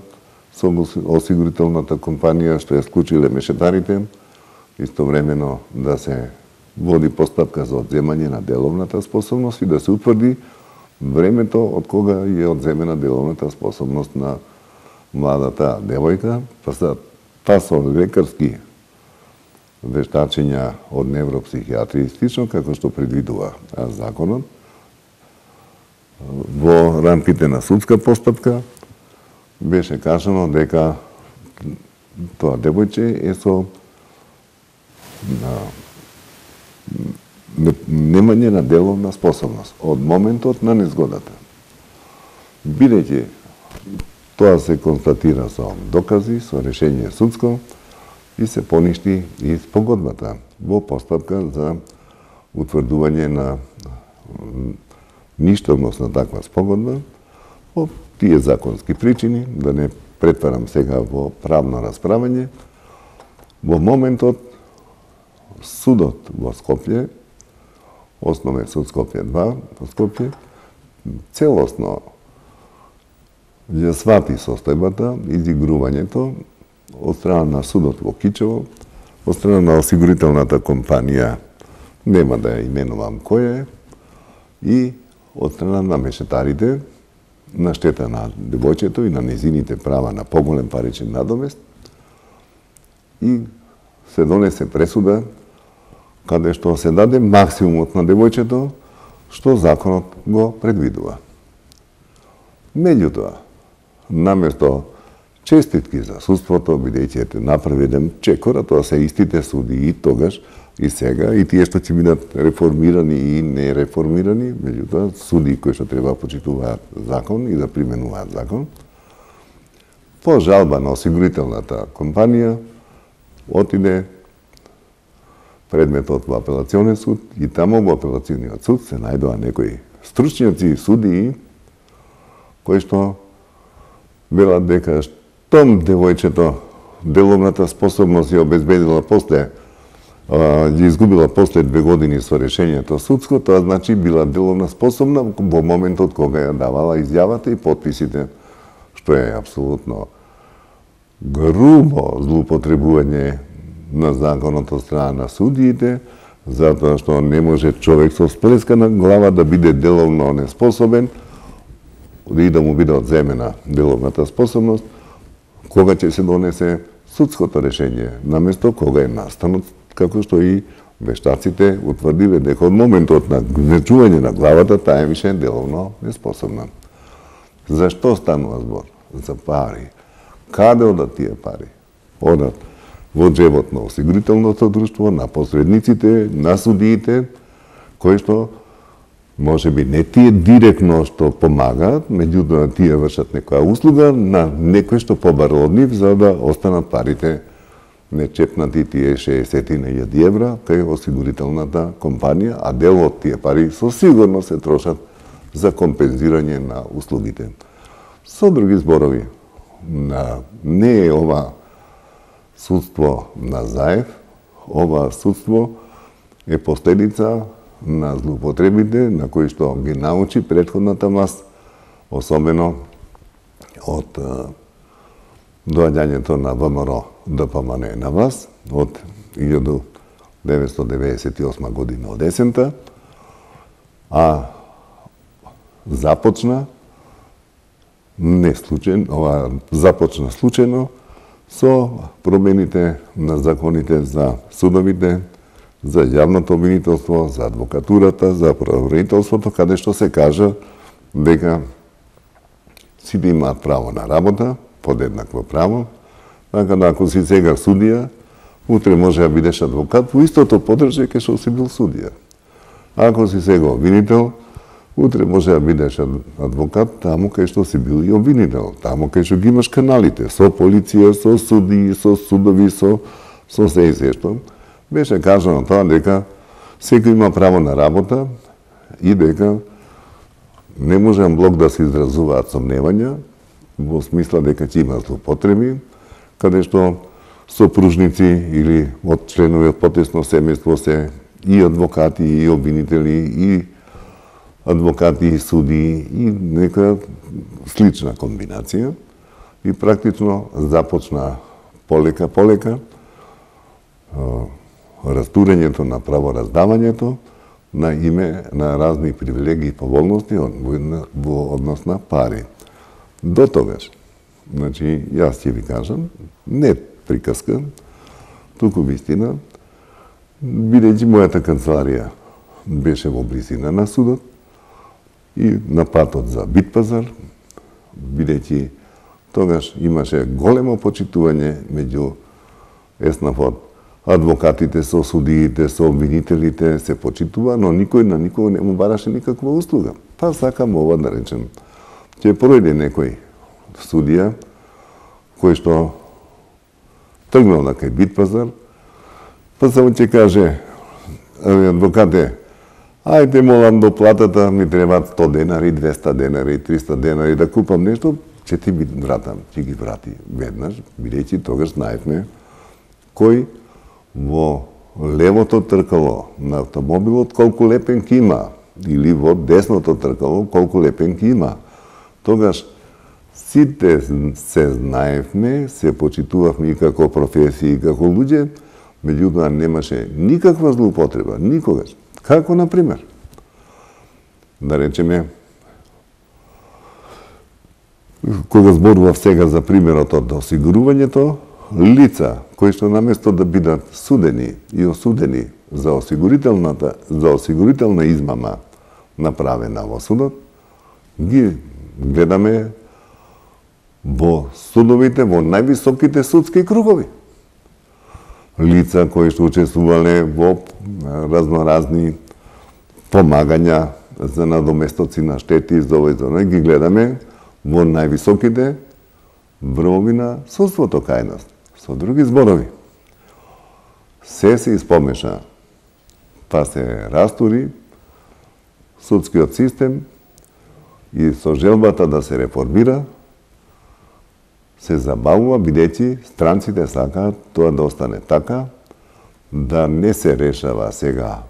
со осигурителната компанија што ја склучиле мешетарите, истовремено да се води постапка за одземање на деловната способност и да се утврди времето од кога е одземена деловната способност на младата девојка, па са па со лекарски вештачења од невропсихијатри и слично, како што предвидува законот, во рамките на судска постапка беше кажано дека тоа девојче е со немање на деловна способност од моментот на незгодата. Бидејќи тоа се констатира со докази, со решение судско и се поништи и спогодбата во постапка за утврдување на ништовност на таква спогодба по тие законски причини, да не претварам сега во правно расправање. Во моментот судот во Скопје, Основен суд Скопје два во Скопје, целосно ја свати состојбата, изигрувањето од страна на судот во Кичево, од страна на осигурителната компанија, нема да ја именувам која е, и од страна на мешетарите, на штета на девојчето и на незините права на поголем паричен надомест, и се донесе пресуда каде што се даде максимумот на девојчето што законот го предвидува. Меѓутоа, наместо честитки за судството, бидејќи ете направи еден чекор, а тоа се истите суди и тогаш и сега, и тие што ќе бидат реформирани и не реформирани, меѓутоа суди кои што треба почитуваат закон и да применуваат закон, по жалба на осигурителната компанија отиде предметот во апелационен суд и таму во апелациониот суд се најдоа некои стручњаци и судии кои што велат дека штом девојчето деловната способност ја обезбедила после, ја изгубила после две години со решењето судско, тоа значи била деловна способна во моментот кога ја давала изјавата и подписите, што е апсолутно грубо злоупотребување на законот од страна на судиите, затоа што не може човек со сплескана глава да биде деловно неспособен и да му биде одземена деловната способност, кога ќе се донесе судското решење, наместо кога е настанот, како што и вештаците утврдиле дека од моментот на гнечување на главата таа е више деловно неспособна. Зашто станува збор? За пари. Каде одат тие пари? Одат во джебот на осигурителното друштво, на посредниците, на судиите, кои што може би не тие директно што помагаат, меѓутоа тие вршат некоја услуга на некој што побара од нив за да останат парите нечепнати тие шеесет илјади евра кај осигурителната компанија, а дел од тие пари со сигурно се трошат за компензирање на услугите. Со други зборови, на, не е ова судство на Заев, ова судство е последица на злоупотребите на кои што ги научи претходната власт, особено од доаѓањето на ВМРО ДПМН на власт од илјада деветстотини деветдесет и осма година од есента, а започна не случајно, ова започна случајно со промените на законите за судовите, за јавното обвинителство, за адвокатурата, за правобранителството, каде што се кажа дека сите имаат право на работа, подеднакво право, така да ако си сега судија, утре може да бидеш адвокат во истото подржје кај што си бил судија. Ако си сега обвинител, утре може да бидеш адвокат таму кај што си бил и обвинител, таму кај што ги имаш каналите, со полиција, со судии, со судови, со, со се и се што. Беше кажано тоа дека секој има право на работа и дека не може блок да се изразуваат сомневања во смисла дека ќе има злоупотреби, каде што сопружници или од членови од потесно семејство се и адвокати, и обвинители, и адвокати и судии и нека слична комбинација и практично започна полека полека растурењето на правораздавањето на име на разни привилегии и поволности во однос на пари. До тогаш, значи, јас ќе ви кажам, не приказка, туку вистина, бидејќи мојата канцеларија беше во близина на судот и на патот за Битпазар, бидејќи тогаш имаше големо почитување меѓу еснафот, адвокатите со судиите, со обвинителите се почитува, но никој на никого не му бараше никаква услуга. Па сакам ова да речем. Ќе пројде некој судија кој што тргнал на кај Битпазар, па само ќе каже, адвокате, ајде молам до платата ми требаат сто денари, двеста денари, триста денари да купам нешто, ќе ти ги вратам, ќе ги врати веднаш, бидејќи тогаш знаевме кој во левото тркало на автомобилот колку лепенки има, или во десното тркало колку лепенки има. Тогаш сите се знаевме, се почитувавме и како професии, и како луѓе, меѓутоа немаше никаква злоупотреба, никогаш. Како, например, да речеме, кога зборував сега за примерот од осигурувањето, лица кои што наместо да бидат судени и осудени за осигурителната за осигурителна измама направена во судот, ги гледаме во судовите, во највисоките судски кругови. Лица кои што учествувале во разноразни помагања за надоместоци на штети за овој за оној, ги гледаме во највисоките врвови на судството кај нас. Со други зборови, се се испомеша, па се растури судскиот систем и со желбата да се реформира, се забавува бидејќи странците сакаат тоа да остане така, да не се решава сега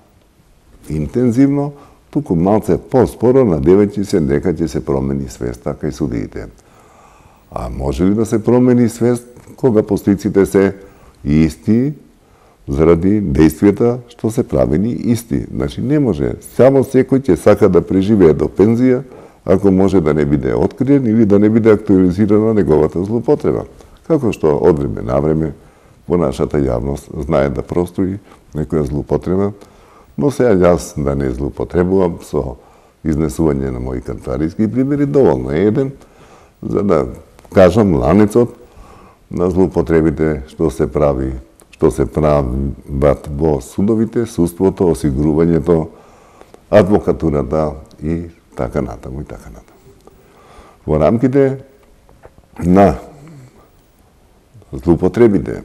интензивно, туку малце поспоро надевајќи се дека ќе се промени свеста кај судиите. А може ли да се промени свест кога постиците се исти заради действијата што се правени исти? Значи не може. Само секој ќе сака да преживее до пензија ако може да не биде откриен или да не биде актуализирана неговата злоупотреба. Како што од време на време во нашата јавност знае да прострои некоја злоупотреба, но сега јас да не злоупотребувам со изнесување на мои кантариски примери, доволно е еден, за да кажам ланецот на злоупотребите што се прави, што се прават во судовите, судството, осигурувањето, адвокатурата и така натаму и така натаму. Во рамките на злоупотребите,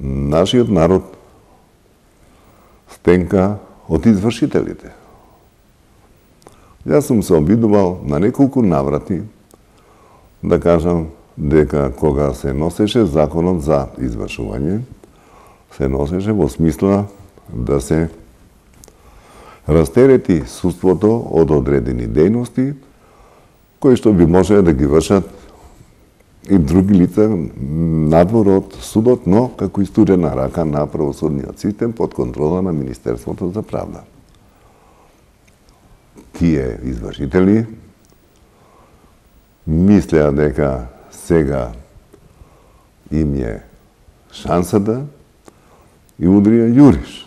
нашиот народ стенка од извршителите. Јас сум се обидувал на неколку наврати да кажам дека кога се носеше законот за извршување, се носеше во смисла да се растерети судството од одредени дејности кои што би можеле да ги вршат и други лица надвор од судот, но како истурена рака на правосудниот систем под контрола на Министерството за правда. Тие извршители мислеа дека сега им е шансата и удрија јуриш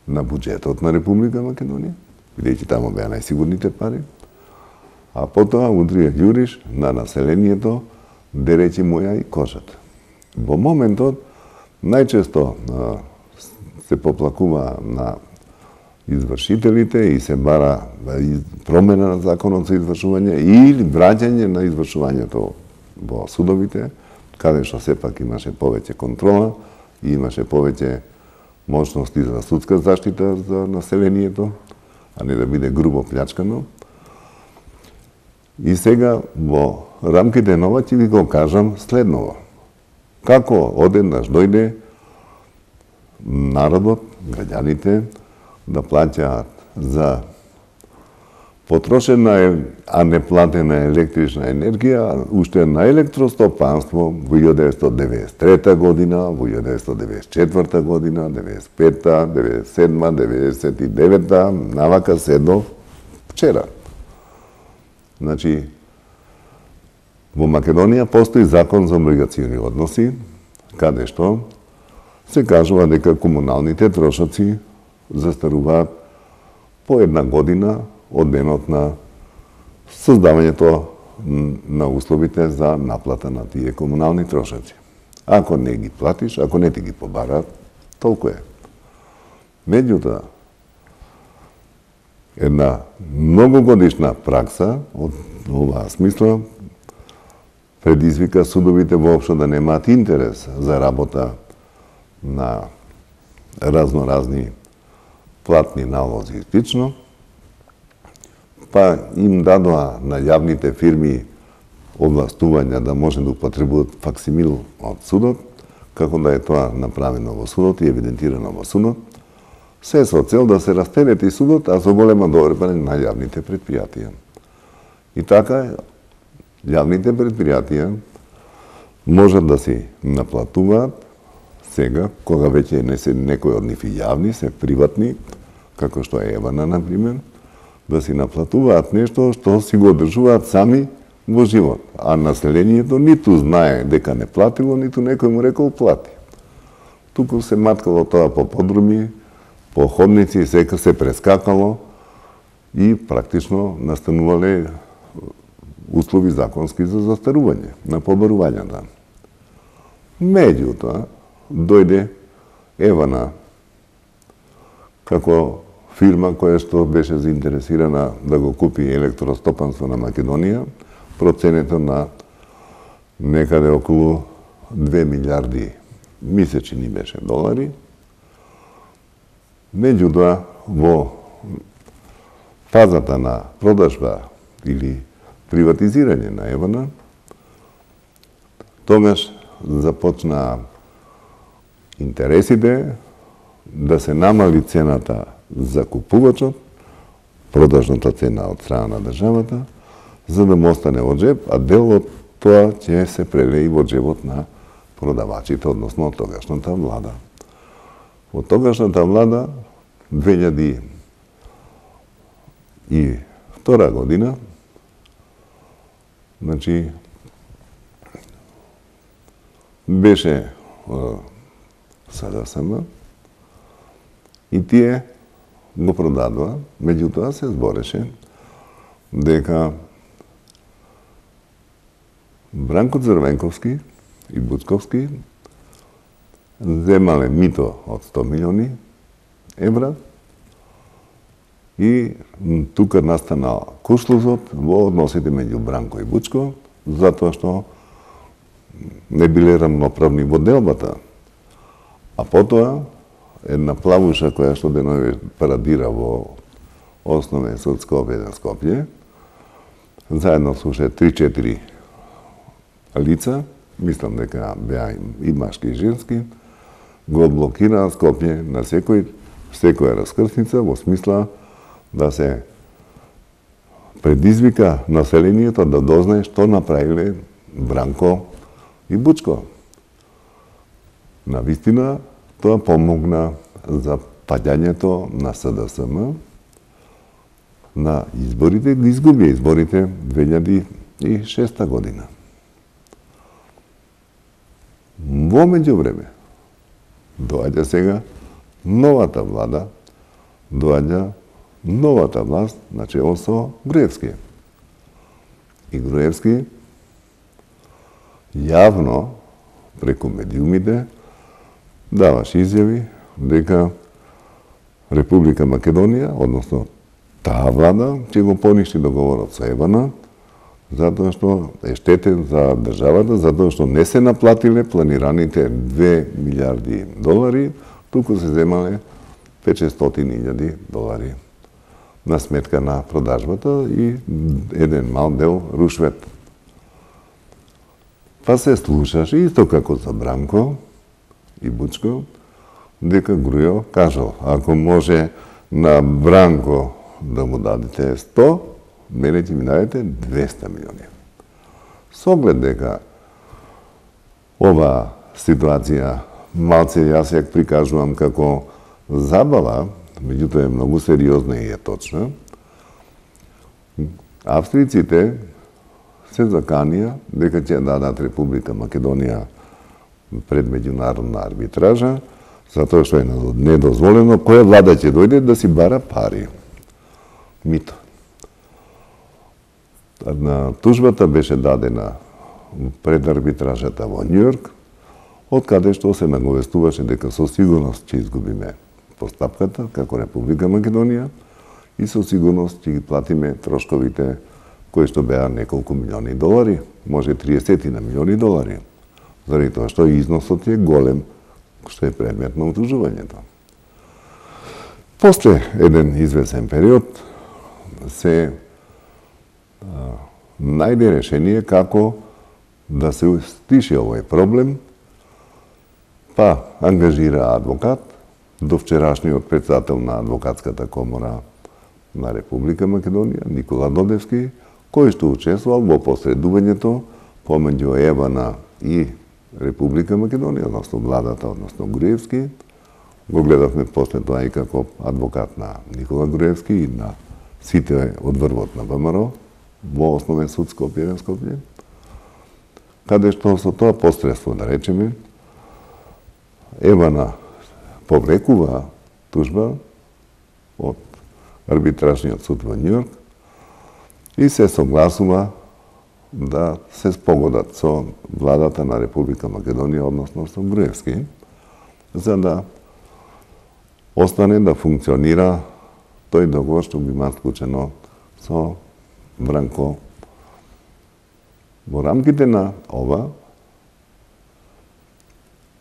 на буџетот на Република Македонија, бидејќи таму беа најсигурните пари, а потоа удрија јуриш на населението, деречи му ја и кожата. Во моментот, најчесто се поплакува на извршителите и се бара промена на законот за извршување или враќање на извршувањето во судовите, каде што сепак имаше повеќе контрола и имаше повеќе можности за судска заштита за населението, а не да биде грубо плячкано. И сега во рамките на ова ќе ви го кажам следново. Како одеднаш дојде народот, граѓаните, да плаќаат за потрошена, а не платена електрична енергија, уште на електростопанство во илјада деветстотини девеесет и трета година, во илјада деветстотини девеесет и четврта година, девеесет и пета, девеесет и седма, девеесет и девета, навака се до вчера. Значи, во Македонија постои закон за облигациони односи, каде што се кажува дека комуналните трошоци застаруваат по една година од денот на создавањето на условите за наплата на тие комунални трошоци. Ако не ги платиш, ако не ти ги побараат, толку е. Меѓутоа, една многогодишна пракса од оваа смисла предизвика судовите воопшто да немаат интерес за работа на разноразни платни налози и слично, па им дадоа на јавните фирми овластувања да може да употребуваат факсимил од судот, како да е тоа направено во судот и евидентирано во судот, се со цел да се растерети судот, а со голема доверба на јавните предпријатија. И така, јавните предпријатија можат да си наплатуваат сега, кога веќе не се некои од нив и јавни, се приватни, како што е Евана, например, да си наплатуваат нешто што си го одржуваат сами во живот, а населението ниту знае дека не платило, ниту некој му рекол плати. Туку се маткало тоа по подруми, по ходници, сека се прескакало и практично настанувале услови законски за застарување на побарувањата. Меѓутоа, дојде Евана како фирма која што беше заинтересирана да го купи електростопанство на Македонија, проценето на некаде околу две милиарди месечни беше долари. Меѓутоа, во фазата на продажба или приватизирање на Евана, тогаш започна интересите да се намали цената за купувачот, продажната цена од страна на државата, за да му остане во джеб, а дел од тоа ќе се прелеи во джебот на продавачите, односно од тогашната влада. Од тогашната влада, две илјади и втора година, значи, беше СДСМ и тие го продадува, меѓутоа се збореше дека Бранко Црвенковски и Буцковски земале мито од сто милиони евра и тука настанал кушлузот во односите меѓу Бранко и Бучко, затоа што не биле рамноправни во делбата. А потоа, една плавуша која што денови парадира во Основен суд Скопје на Скопје, заедно со уште три-четири лица, мислам дека беа и машки и женски, го блокираа Скопје на секој, секоја раскрсница во смисла да се предизвика населението да дознае што направиле Бранко и Бучко. Навистина, тоа помогна за паѓањето на СДСМ на изборите, ги изгуби изборите две илјади и шеста година. Во меѓувреме, доаѓа сега новата влада, доаѓа новата власт, начело со Груевски. И Груевски јавно, преку медиумите, даваш изјави дека Република Македонија, односно таа влада, ќе го поништи договорот со Евана, затоа што е штетен за државата, затоа што не се наплатиле планираните две милиарди долари, туку се земале петстотини илјади долари на сметка на продажбата и еден мал дел рушвет. Па се слушаше, исто како за Бранко и Бучко, дека Грујо кажал, ако може на Бранко да му дадете сто, мене ќе ми дадете двеста милиони. Со оглед дека ова ситуација малце јас ја прикажувам како забава, меѓутоа е многу сериозна и е точна, австриците се заканија дека ќе дадат Република Македонија пред меѓународна арбитража, затоа што е недозволено која влада ќе дојде да си бара пари. Мито. На тужбата беше дадена пред арбитражата во Њујорк, од каде што се наговестуваше дека со сигурност ќе изгубиме постапката како Република Македонија и со сигурност ќе ги платиме трошковите кои што беа неколку милиони долари, може триесет на милиони долари, заради тоа што износот е голем, што е предмет на утужувањето. После еден извесен период се а, најде решение како да се стиши овој проблем, па ангажира адвокат, до вчерашниот председател на Адвокатската комора на Република Македонија, Никола Додевски, кој што учествувал во посредувањето помеѓу Евана и Република Македонија, односно владата, односно Груевски. Го гледавме после тоа и како адвокат на Никола Груевски и на сите од врвот на ВМРО, во Основен суд Скопје на Скопје, каде што со тоа посредство, да речеме, Евана повлекува тужба од арбитражниот суд во Њујорк и се согласува да се спогодат со владата на Република Македонија, односно со Груевски, за да остане да функционира тој договор што би имал склучено со Вранко. Во рамките на ова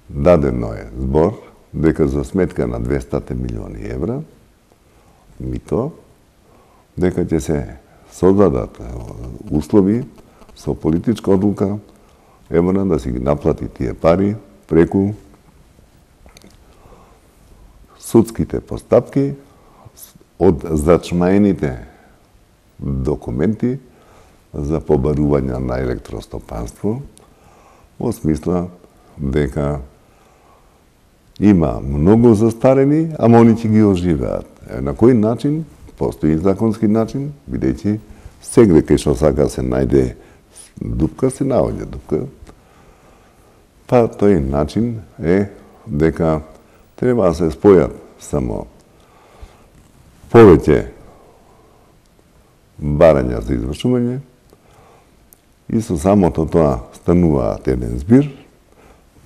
дадено е збор дека за сметка на двеста милиони евра мито, дека ќе се создадат услови со политичка одлука Евана да си ги наплати тие пари преку судските постапки од зачмаените документи за побарување на електростопанство, во смисла дека има многу застарени, ама они ќе ги оживеат. На кој начин? Постои законски начин, бидејќи сегде кај што сака се најде дупка, се наоѓа дупка. Па тој начин е дека треба да се спојат само повеќе барања за извршување и со самото тоа стануваат еден збир,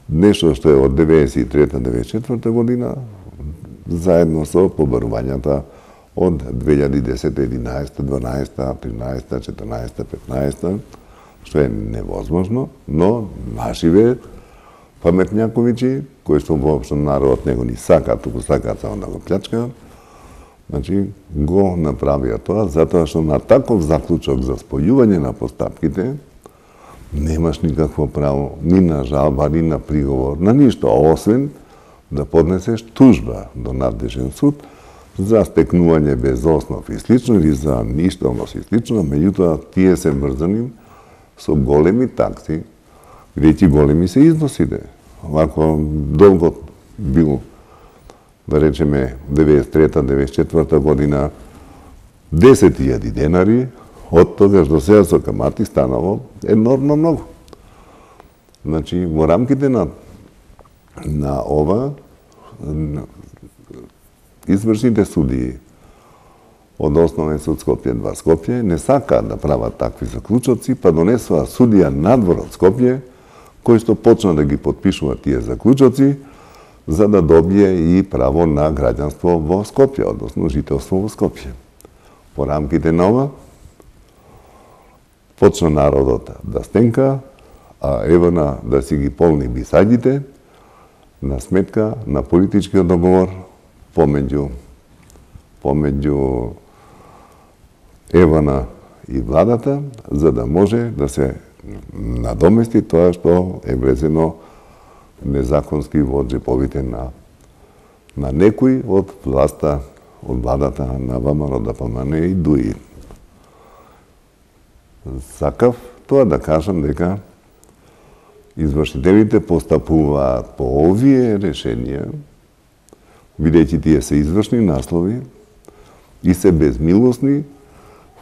нешто што е од деветдесет и трета до деветдесет и четврта година, заедно со побарувањата од две илјади и десета, единаесета, дванаесета, тринаесета, четиринаесета, петнаесета, што е невозможно, но нашиве паметњаковичи, кои што воопшто народот него ни сака, туку сакаат само да го плячкаат, значи го направија тоа, затоа што на таков заклучок за спојување на постапките немаш никакво право ни на жалба, ни на приговор, на ништо, освен да поднесеш тужба до надлежен суд за стекнување без основ и слично или за ништовност и слично, меѓутоа тие се врзани со големи такси, бидејќи големи се износите. Ако долгот бил, да речеме, деветдесет и трета до деветдесет и четврта година десет илјади денари, од тогаш до сега со камати станало енормно многу. Значи, во рамките на, на ова, извршните судии од Основен суд Скопје два Скопје не сакаат да прават такви заклучоци, па донесува судија надвор од Скопје, кој што почна да ги подпишува тие заклучоци, за да добие и право на граѓанство во Скопје, односно жителство во Скопје. По рамките на ова, почна народот да стенка, а Евана да си ги полни бисаѓите на сметка на политичкиот договор помеѓу помеѓу Евана и владата, за да може да се надомести тоа што е влезено незаконски во джеповите на на некои од власта, од владата на ВМРО Д П М Н и Д У И. Сакав тоа да кажам дека извршителите постапуваат по овие решенија, бидејќи тие се извршни наслови и се безмилосни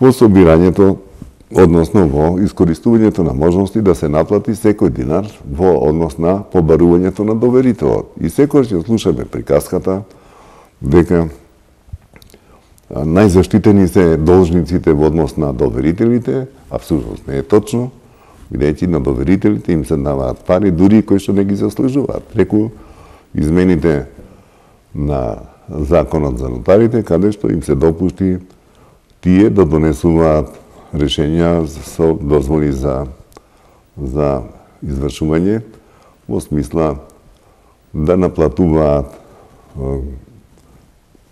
во собирањето, односно во искористувањето на можности да се наплати секој динар во однос на побарувањето на доверителот. И секој ќе слушаме приказката дека најзаштитени се должниците во однос на доверителите, апсолутно не е точно, бидејќи на доверителите им се даваат пари, дури кои што не ги заслужуваат, преку измените на законот за нотарите, каде што им се допушти тие да донесуваат решенја со дозволи за за извршување во смисла да наплатуваат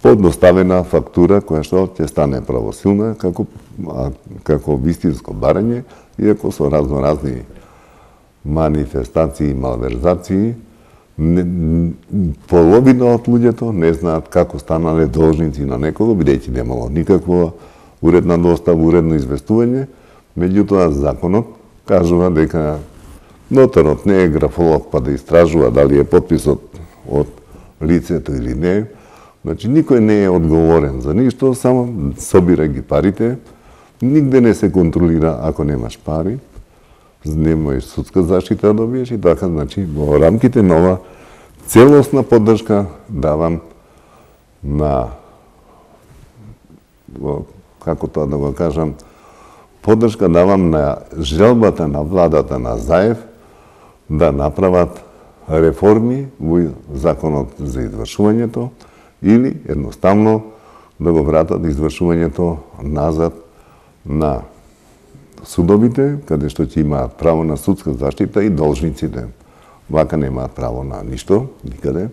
подоставена фактура која што ќе стане правосилна како како вистинско барање, иако со разноразни манифестации и малверзации не, половина од луѓето не знаат како станале должници на некого, бидејќи немало никаква уредна достава, уредно известување, меѓутоа законот кажува дека нотарот не е графолог па да истражува дали е подписот од лицето или не. Значи, никој не е одговорен за ништо, само собира ги парите нигде не се контролира ако немаш пари, не можеш судска заштита да добиеш и така, значи, во рамките на ова целосна поддршка давам на, како тоа да го кажам, поддршка давам на желбата на владата на Заев да направат реформи во законот за извршувањето или едноставно да го вратат извршувањето назад на судовите, каде што ќе имаат право на судска заштита и должниците. Вака немаат право на ништо, никаде.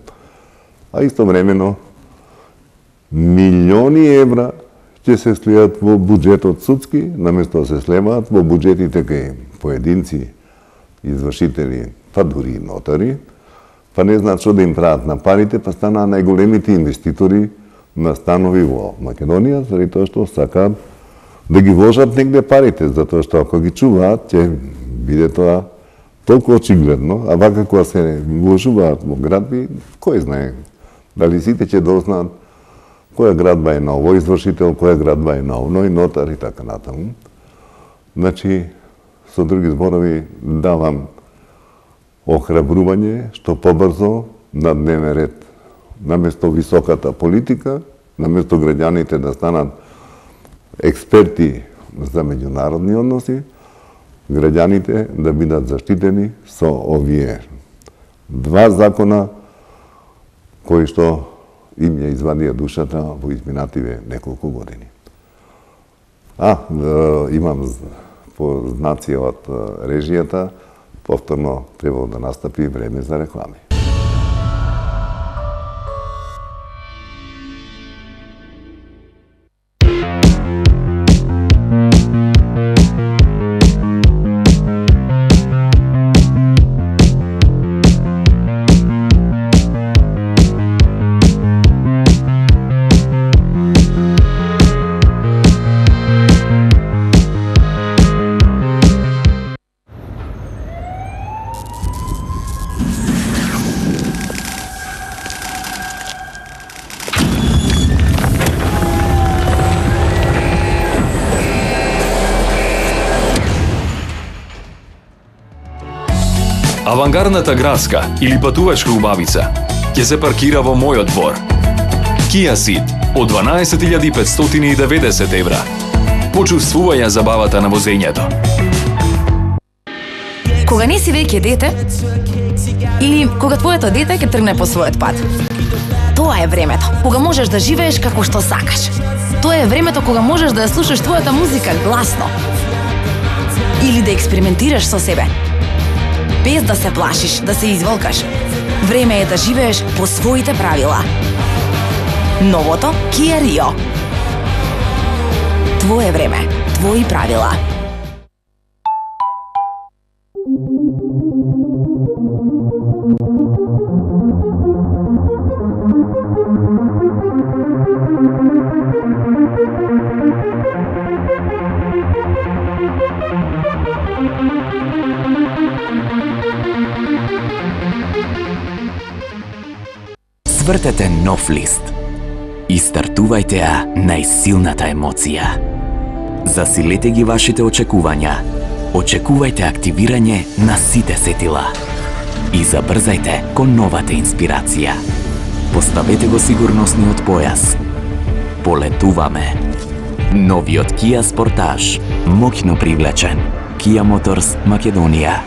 А истовремено милиони евра ќе се слијат во буџетот судски, наместо да се слеваат во буџетите кај поединци, извршители, па дури и нотари, па не знаат што да им прават на парите, па станаа најголемите инвеститори на станови во Македонија, заради тоа што сакаат да ги вложат негде парите, затоа што ако ги чуваат, ќе биде тоа толку очигледно, а вака кога се вложуваат во градби, кој знае, дали сите ќе дознаат која градба е на овој извршител, која градба е на овној нотар и така натаму. Значи, со други зборови, давам охрабрување што побрзо на дневен ред, наместо високата политика, наместо граѓаните да станат експерти за меѓународни односи, граѓаните да бидат заштитени со овие два закона кои што им ја извадија душата во изминативе неколку години. А, имам по знаци од режијата, повторно требало да настапи време за реклами. Авангардната градска или патувачка убавица ќе се паркира во мојот двор. Kia Ceed од дванаесет илјади петстотини и деветдесет евра. Почувствувај ја забавата на возењето. Кога не си веќе дете, или кога твоето дете ќе тргне по својот пат. Тоа е времето кога можеш да живееш како што сакаш. Тоа е времето кога можеш да ја слушаш твојата музика гласно. Или да експериментираш со себе. Без да се плашиш, да се изволкаш. Време е да живееш по своите правила. Новото Kia Rio. Твое време, твои правила. Свртете нов лист и стартувајте ја најсилната емоција. Засилете ги вашите очекувања. Очекувајте активирање на сите сетила. И забрзајте кон новата инспирација. Поставете го сигурносниот појас. Полетуваме. Новиот Kia Sportage, моќно привлечен. Kia Motors Македонија.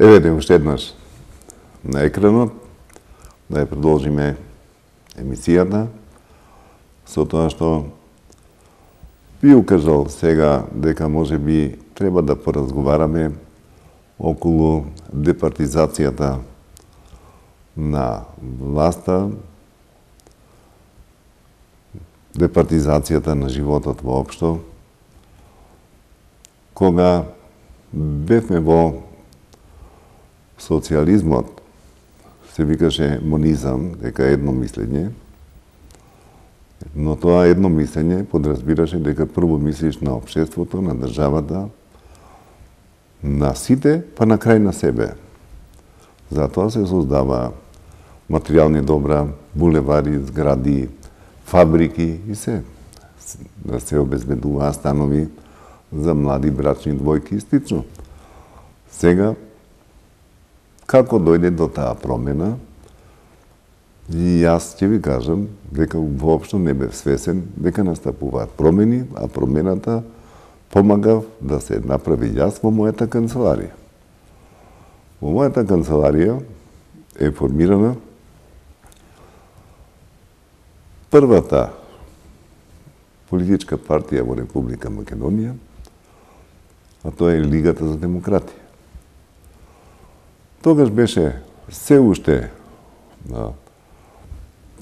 еве уште еднаш на екранот, да ја продолжиме емисијата со тоа што би укажал сега дека може би треба да поразговараме околу департизацијата на власта, департизацијата на животот воопшто, кога бевме во социјализмот, се викаше монизам, дека едно мислење, но тоа едно мислење подразбираше дека прво мислиш на општеството, на државата, на сите, па на крај на себе. Затоа се создава материјални добра, булевари, згради, фабрики и се. Да се обезбедуваа станови за млади брачни двојки и слично. Сега, како дојде до таа промена, и јас ќе ви кажам дека воопшто не бев свесен дека настапуваат промени, а промената помагав да се направи јас во мојата канцеларија. Во мојата канцеларија е формирана првата политичка партија во Република Македонија, а тоа е Лигата за демократија. Тогаш беше се уште да,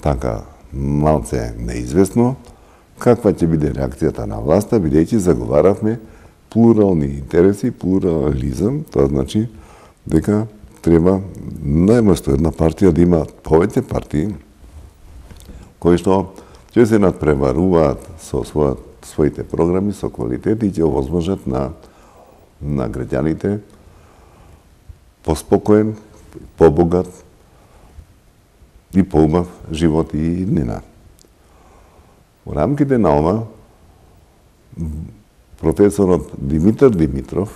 така малце неизвестно каква ќе биде реакцијата на власта, бидејќи заговаравме плурални интереси, плурализам, тоа значи дека треба најместо една партија да има повеќе партии кои што ќе се надпреваруваат со својот, своите програми, со квалитет и ќе овозможат на, на граѓаните поспокоен, побогат и поубав живот и иднина. Во рамките на ова, професорот Димитар Димитров,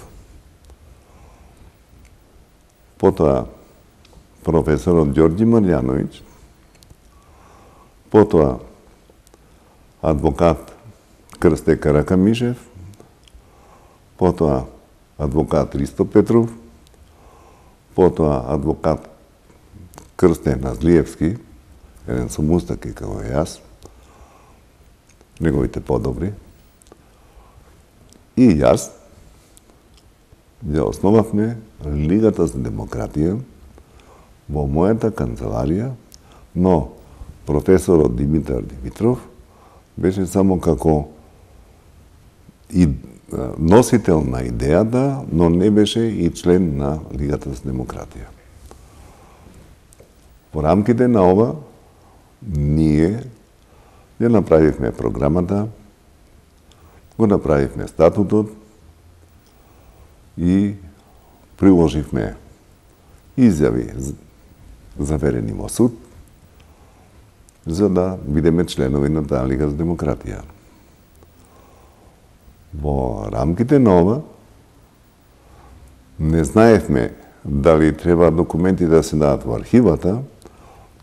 потоа професорот Ѓорѓи Марјановиќ, потоа адвокат Крсте Каракамишев, потоа адвокат Ристо Петров, потоа адвокат Крсте Назлиевски, еден со мустаки како јас, неговите подобри, и јас ја основавме Лигата за демократија во мојата канцеларија, но професорот Димитар Димитров беше само како и носител на идејата, но не беше и член на Лигата за демократија. Во рамките на ова, ние ја направивме програмата, го направивме статутот и приложивме изјави заверени во суд, за да бидеме членови на таа Лига за демократија. Во рамките на ова, не знаевме дали треба документи да се дадат во архивата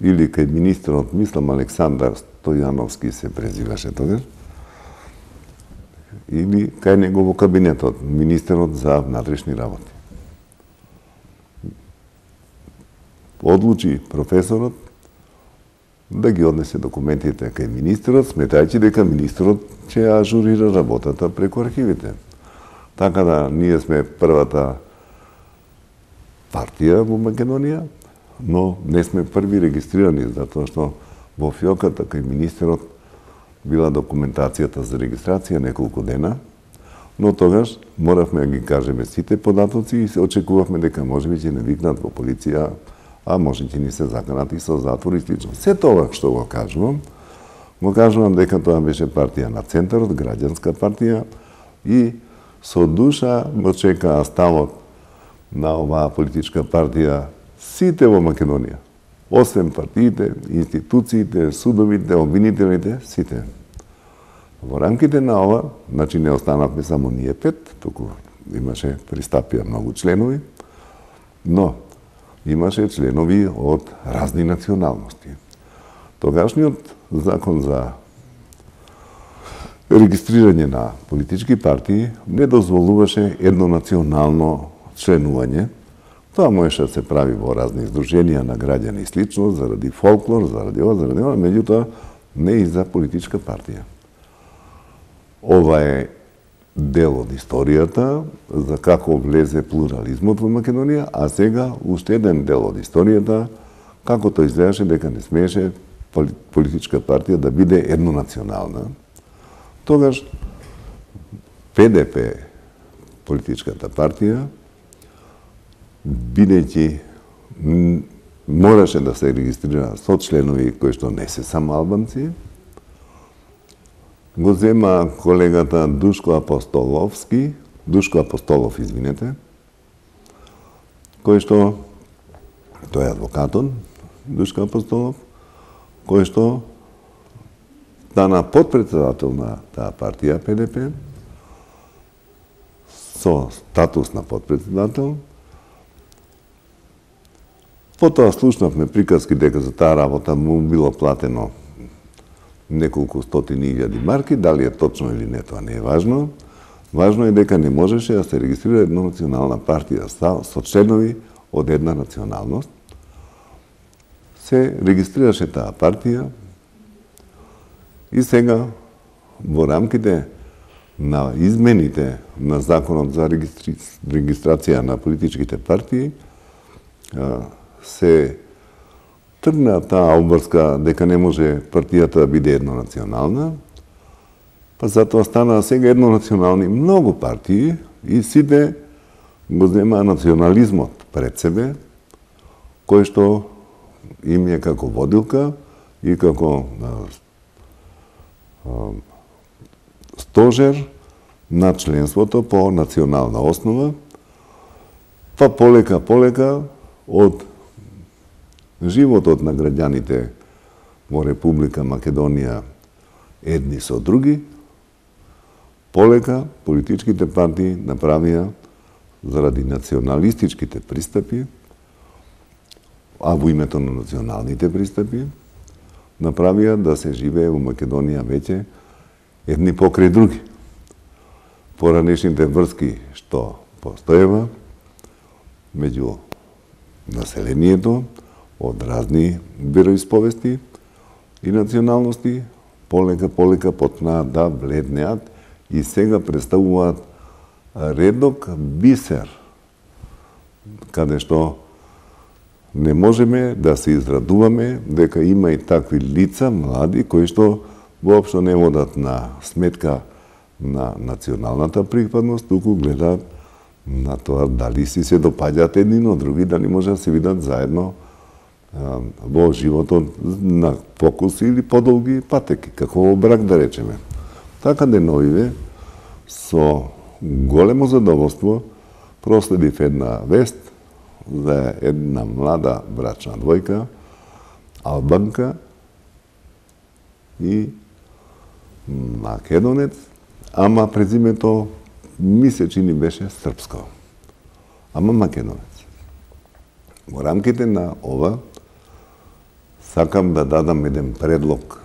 или кај министерот, мислам Александар Стојановски се презиваше тогаш, или кај него во кабинетот, министерот за внатрешни работи. Одлучи професорот да ги однесе документите кај министерот, сметајќи дека министерот ќе ажурира работата преку архивите. Така да ние сме првата партија во Македонија, но не сме први регистрирани, затоа што во фиоката кај министерот била документацијата за регистрација неколку дена, но тогаш моравме да ги кажеме сите податоци и се очекувавме дека можеби ќе не викнат во полиција, а може ќе ни се заканат и со затвор и слично. Се тоа што го кажувам, го кажувам дека тоа беше партија на центарот, граѓанска партија, и со душа го чекаа ставот на оваа политичка партија сите во Македонија. Освен партиите, институциите, судовите, обвинителите, сите. Во рамките на ова, значи не останавме само ние пет, туку имаше пристапија многу членови, но имаше членови од разни националности. Тогашниот закон за регистрирање на политички партии не дозволуваше еднонационално членување, Тоа можеше да се прави во разни издруженија на граѓани и слично, заради фолклор, заради ова, заради ова, меѓутоа не и за политичка партија. Ова е дел од историјата за како влезе плурализмот во Македонија, а сега уште еден дел од историјата како тоа изгледаше дека не смееше политичка партија да биде еднонационална. Тогаш Пе Де Пе, политичката партија, бидејќи мораше да се регистрира со членови кои што не се само албанци, го зема колегата Душко Апостоловски, Душко Апостолов, извинете, кој што, тој е адвокатот, Душко Апостолов, кој што стана подпредседател на таа партија Пе Де Пе, со статус на подпредседател. Потоа слушнавме приказки дека за таа работа му било платено неколку стотини илјади марки, дали е точно или не, тоа не е важно. Важно е дека не можеше да се регистрира една национална партија со членови од една националност. Се регистрираше таа партија и сега во рамките на измените на законот за регистри... регистрација на политичките партии се тргна таа обврска дека не може партијата да биде еднонационална, па затоа стана сега еднонационални многу партии и сите го земаа национализмот пред себе, кој што им е како водилка и како стожер на членството по национална основа, па полека, полека од животот на граѓаните во Република Македонија едни со други, полека политичките партии направија заради националистичките пристапи, а во името на националните пристапи, направија да се живее во Македонија веќе едни покрај други. Поранешните врски што постоева меѓу населението од разни вероисповести и националности, полека полека почнаа да бледнеат и сега представуваат редок бисер, каде што не можеме да се израдуваме дека има и такви лица, млади, кои што воопшто не водат на сметка на националната припадност, туку гледаат на тоа дали си се допаѓаат едни на други, дали може да се видат заедно а, во животот на покуси или подолги патеки, како во брак да речеме. Така деновиве со големо задоволство проследив една вест за една млада брачна двојка, албанка и македонец, ама презимето ми се чини беше српско, ама македонец. Во рамките на ова сакам да дадам еден предлог.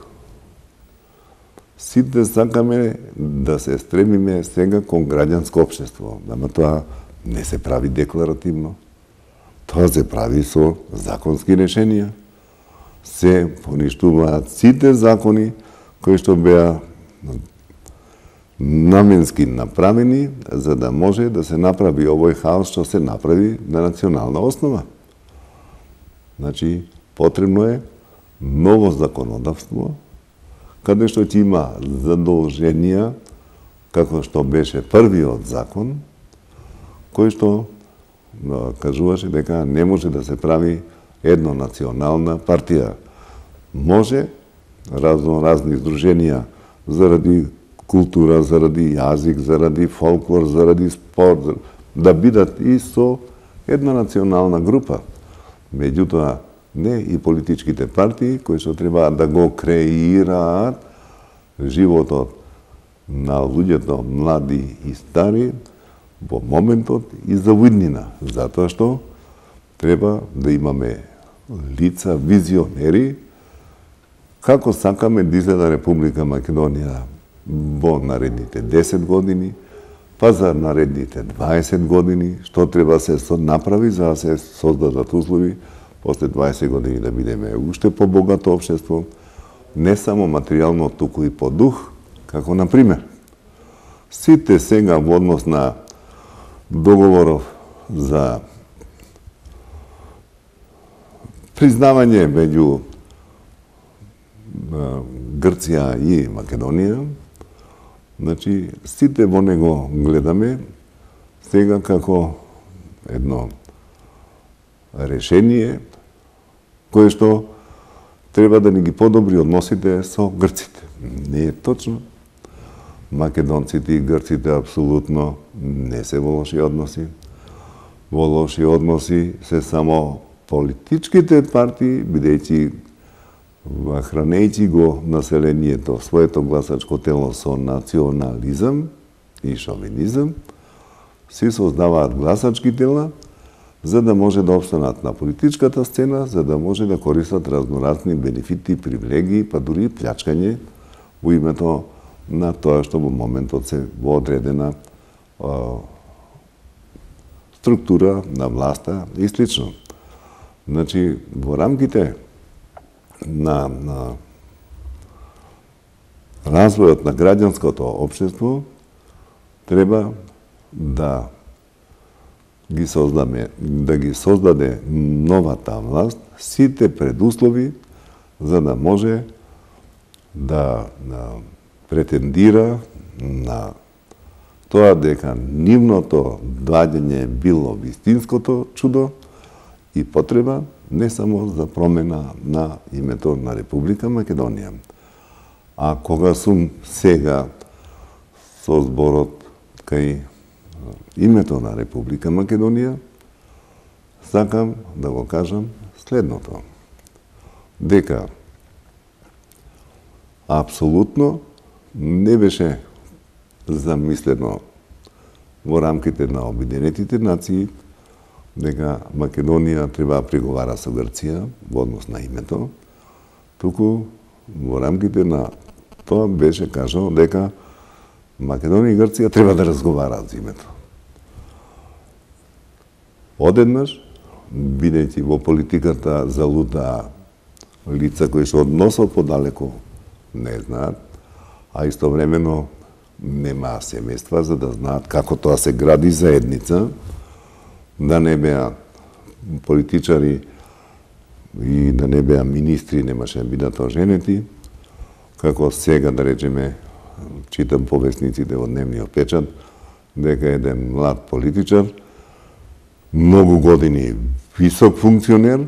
Сите сакаме да се стремиме сега кон граѓанско општество, ама тоа не се прави декларативно. Тоа се прави со законски решенија. Се поништуваат сите закони кои што беа наменски направени за да може да се направи овој хаос што се направи на национална основа. Значи, потребно е ново законодавство, каде што ќе има задолженија, како што беше првиот закон, кој што кажуваше дека не може да се прави еднонационална партија. Може разно разни издруженија заради култура, заради јазик, заради фолклор, заради спорт, да бидат и со една национална група. Меѓутоа, не и политичките партии, кои што треба да го креираат животот на луѓето млади и стари во моментот и за виднина, затоа што треба да имаме лица, визионери, како сакаме да изгледа Република Македонија во наредните десет години, па за наредните дваесет години, што треба се направи за да се создадат услови после дваесет години да бидеме уште побогато општество, не само материјално, туку и по дух, како на пример. Сите сега во однос на договоров за признавање меѓу Грција и Македонија, значи сите во него гледаме сега како едно решение кое што треба да ни ги подобри односите со грците. Не е точно. Македонците и грците апсолутно не се во лоши односи. Во лоши односи се само политичките партии, бидејќи хранејќи го населението, своето гласачко тело со национализам и шовинизам, си создаваат гласачки тела за да може да опстанат на политичката сцена, за да може да користат разноразни бенефити, привилегии, па дури плячкање во името на тоа што во моментот се во одредена а, структура на власта и слично. Значи, во рамките на, на развојот на граѓанското општество треба да ги создаме, да ги создаде новата власт сите предуслови за да може да, да претендира на тоа дека нивното доаѓање било вистинското чудо и потреба не само за промена на името на Република Македонија. А кога сум сега со зборот кај името на Република Македонија, сакам да го кажам следното. Дека апсолутно не беше замислено во рамките на Обединетите нации дека Македонија треба да преговара со Грција во однос на името, туку во рамките на тоа беше кажано дека Македонија и Грција треба да разговараат за името. Одеднаш, бидејќи во политиката залутаа лица кои што односот подалеку не знаат, а истовремено нема семејства за да знаат како тоа се гради заедница, да не беа политичари и да не беа министри, немаше да бидат оженети, како сега, да речеме, читам повесниците во дневниот печат, дека еден млад политичар, многу години висок функционер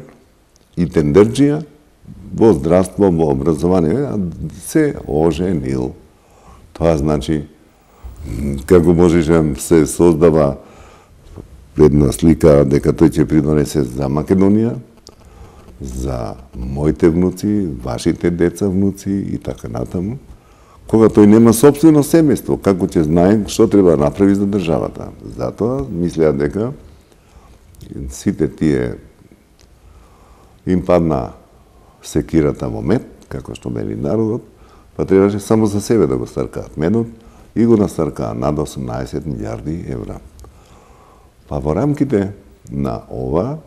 и тендерџија во здравство, во образование, се оженил. Тоа значи, како можеше се создава една слика дека тој ќе придонесе за Македонија, за моите внуци, вашите деца внуци и така натаму, кога тој нема собствено семејство, како ќе знае што треба да направи за државата. Затоа мислеа дека сите тие им падна секирата во мед, како што мели народот, па требаше само за себе да го старкаат медот и го настаркаа над осумнаесет милијарди евра. Па во рамките на ова,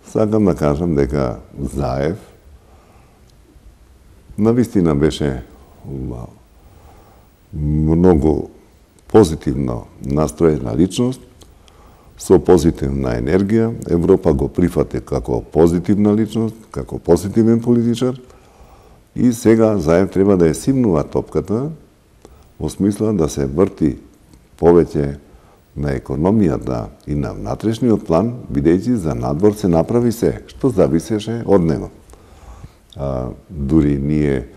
сакам да кажам дека Заев навистина беше многу позитивно настроена личност, со позитивна енергија. Европа го прифати како позитивна личност, како позитивен политичар и сега Заев треба да ја симнува топката во смисла да се врти повеќе на економијата и на внатрешниот план, бидејќи за надвор се направи се, што зависеше од него. А, дури ние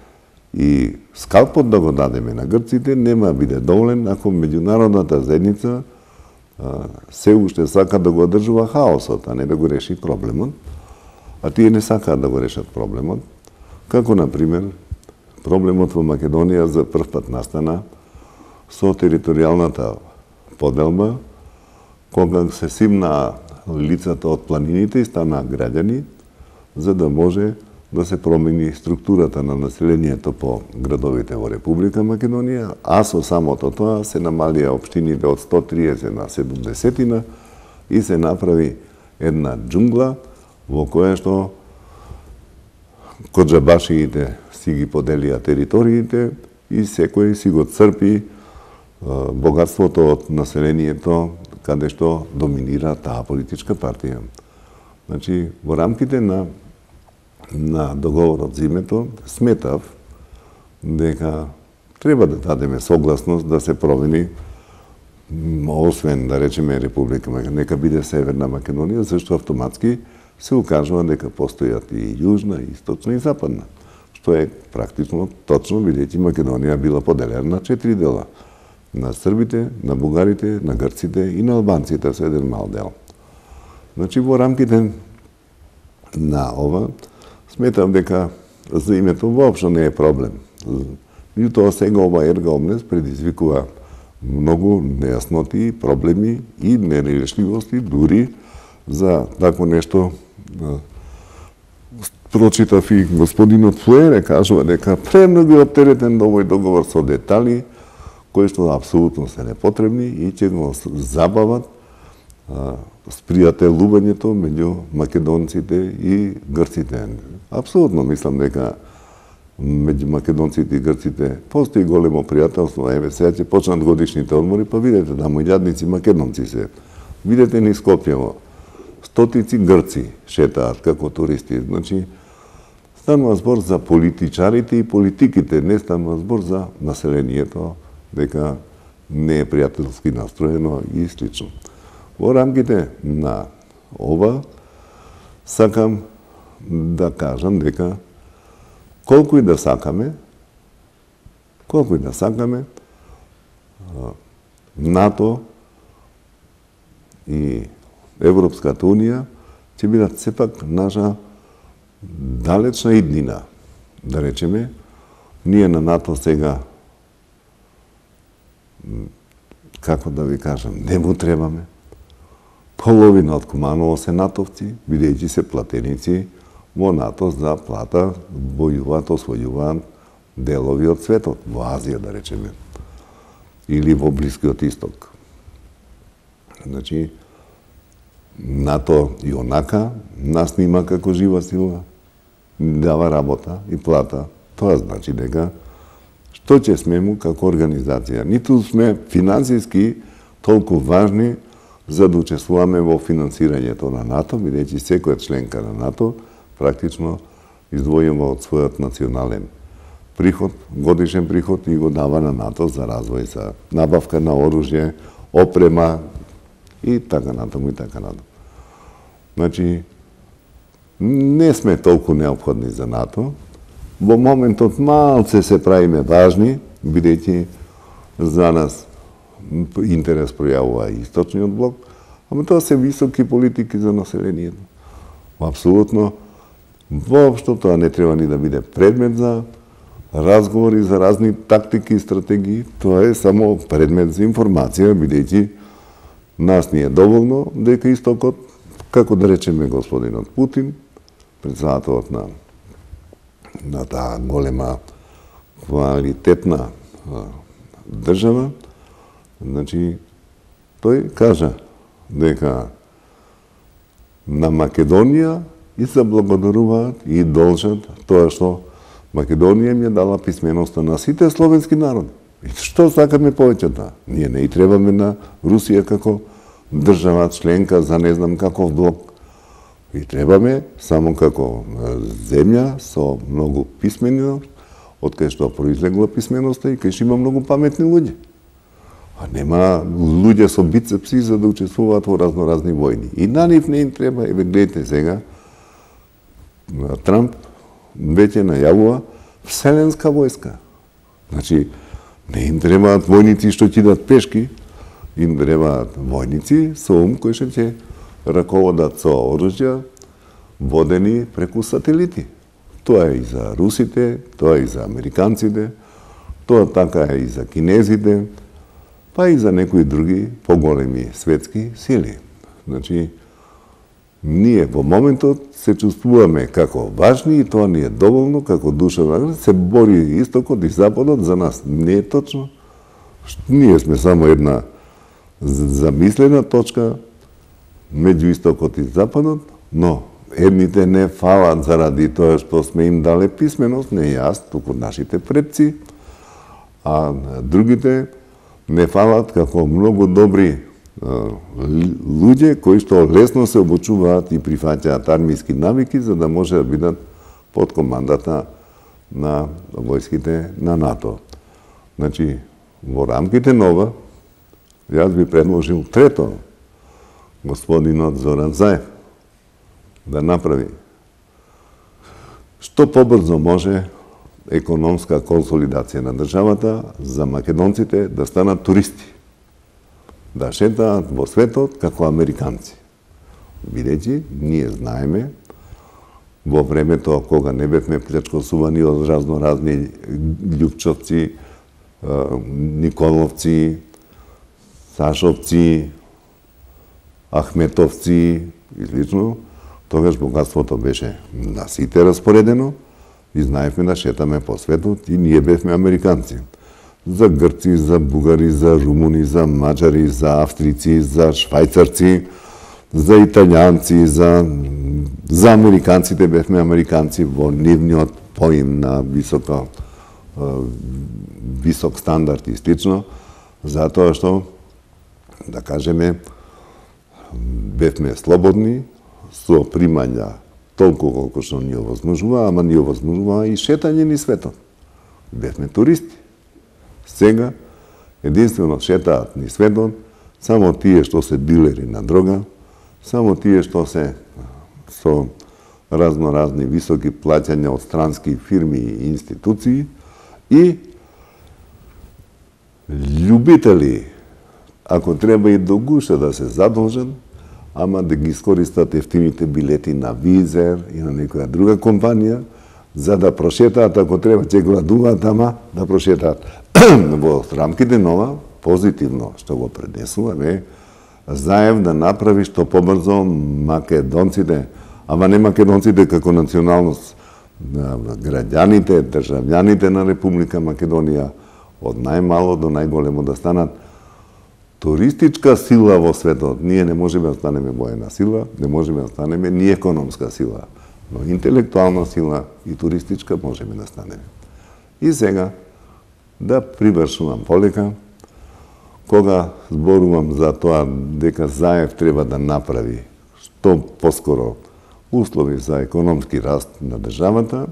и скалпот да го дадеме на грците нема биде доволен ако меѓународната заедница а, се уште сака да го одржува хаосот, а не да го реши проблемот. А тие не сакаат да го решат проблемот, како на пример проблемот во Македонија за прв пат настана со територијалната поделба, кога се симна лицата од планините и стана граѓани, за да може да се промени структурата на населението по градовите во Република Македонија, а со самото тоа се намалија општините од сто триесет на седумдесет и се направи една џунгла во која што коџабашиите си ги поделија териториите и секој си го црпи богатството од населението каде што доминира таа политичка партија. Значи, во рамките на на договорот за името, сметав дека треба да дадеме согласност да се промени, освен да речеме Република Македонија, нека биде Северна Македонија, зашто автоматски се укажува дека постојат и јужна, и источна и западна, што е практично точно, бидејќи Македонија била поделена на четири дела: на србите, на бугарите, на грците и на албанците со еден мал дел. Значи, во рамките на ова, сметам дека за името воопшто не е проблем. Меѓутоа сега ова ерга омнес предизвикува многу нејасноти, проблеми и нерешливости, дури за тако нешто. Прочитав и господинот Фуере кажува дека премногу е оптеретен до овој договор со детали кои што апсолутно се непотребни и ќе го забават спријателувањето меѓу македонците и грците. Апсолутно мислам дека меѓу македонците и грците постои големо пријателство. Еве сега ќе почнат годишните одмори, па видете да мојадници македонци се. Видете низ Скопје, стотици грци шетаат како туристи. Значи, станува збор за политичарите и политиките, не станува збор за населението, дека не е пријателски настроено и слично. Во рамките на ова, сакам да кажам дека колку и да сакаме, колку и да сакаме, НАТО и Европската Унија ќе бидат сепак наша далечна иднина. Да речеме, ние на НАТО сега, како да ви кажам, не му требаме. Половина од Куманово се натовци, бидејќи се платеници во НАТО за плата, војуваат, освојуваат делови од светот, во Азија да речеме, или во Блискиот Исток. Значи, НАТО и онака нас нима како жива сила, дава работа и плата. Тоа значи дека што ќе сме му како организација. Ниту сме финансиски толку важни за да учествуваме во финансирањето на НАТО, бидејќи секоја членка на НАТО практично издвојува од својот национален приход, годишен приход и го дава на НАТО за развој, за набавка на оружје, опрема и така натаму и така натаму. Значи, не сме толку неопходни за НАТО. Во моментот малце се правиме важни, бидејќи за нас интерес пројавува и источниот блок, ама тоа се високи политики за населението. Апсолутно, воопшто тоа не треба ни да биде предмет за разговори за разни тактики и стратегии, тоа е само предмет за информација, бидејќи нас ни е доволно дека истокот, како да речеме господинот Путин, председателот на на таа голема квалитетна држава, значи, тој кажа дека на Македонија и се благодаруваат и должат тоа што Македонија ми е дала писменоста на сите словенски народи. И што сакаме повеќе да? Ние не и требаме на Русија како држава членка за не знам каков блок. И требаме само како земја со многу писменост, од кај што произлегла писменоста и кај што има многу паметни луѓе. А нема луѓе со бицепси за да учествуваат во разноразни војни. И на нив не им треба, еве гледате сега, Трамп веќе најавува вселенска војска. Значи, не им требаат војници што ќе идат пешки, им требаат војници со ум кои што ќе раководат со оружја, водени преку сателити. Тоа е и за русите, тоа е и за американците, тоа така е и за кинезите, па и за некои други поголеми светски сили. Значи, ние во моментот се чувствуваме како важни и тоа ни е доволно како душа. Се бори истокот и западот, за нас не е точно. Ние сме само една замислена точка меѓу истокот и западот, но едните не фалат заради тоа што сме им дале писменост, не јас, туку нашите предци, а другите не фалат како многу добри луѓе кои што лесно се обучуваат и прифаќаат армиски навики за да може да бидат под командата на војските на НАТО. Значи, во рамките на ова, јас би предложил трето, господинот Зоран Заев да направи што побрзо може економска консолидација на државата за македонците да станат туристи, да шетаат во светот како американци. Бидејќи, ние знаеме, во времето кога не бевме плячкосувани од разноразни Љупчовци, Николовци, Сашовци, Ахметовци и слично, тогаш богатството беше на сите распоредено и знаевме да шетаме по светот и ние бевме американци. За грци, за бугари, за румуни, за маđари, за австрици, за швајцарци, за италијанци, за, за американците бевме американци во нивниот поим на високо, висок стандард и слично, затоа што, да кажеме, бевме слободни, со примања толку колку што ни овозможува, ама ни овозможува и шетање ни светот. Бевме туристи. Сега, единствено шетаат ни светот само тие што се дилери на дрога, само тие што се со разноразни високи плаќања од странски фирми и институции и љубители, ако треба и до гуша да се задолжат, ама да ги искористат ефтините билети на Визер и на некоја друга компанија, за да прошетаат, ако треба, ќе гладуваат, ама да прошетаат. Во рамките на ова, позитивно што го пренесува, е Заев да направи што побрзо македонците, ама не македонците како националност, граѓаните, државјаните на Република Македонија, од најмало до најголемо да станат туристичка сила во светот. Ние не можеме да станеме воена сила, не можеме да станеме ни економска сила, но интелектуална сила и туристичка можеме да станеме. И сега, да привршувам полека, кога зборувам за тоа дека Заев треба да направи што поскоро услови за економски раст на државата,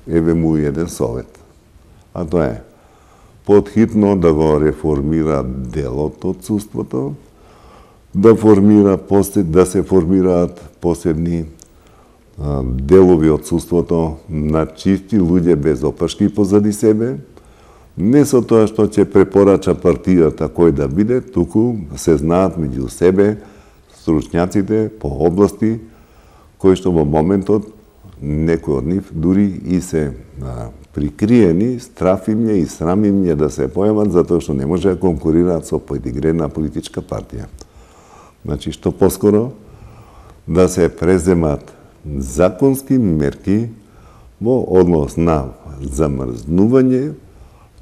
еве му еден совет. А тоа е потхитно да го реформира делот од судството, да формира да се формираат посебни делови од судството на чисти луѓе без опашки позади себе, не со тоа што ќе препорача партијата кој да биде, туку се знаат меѓу себе стручњаците по области кои што во моментот некои од нив дури и се а, прикриени, страф им е и срам им е да се појават затоа што не може да конкурираат со поедигрена политичка партија. Значи, што поскоро да се преземат законски мерки во однос на замрзнување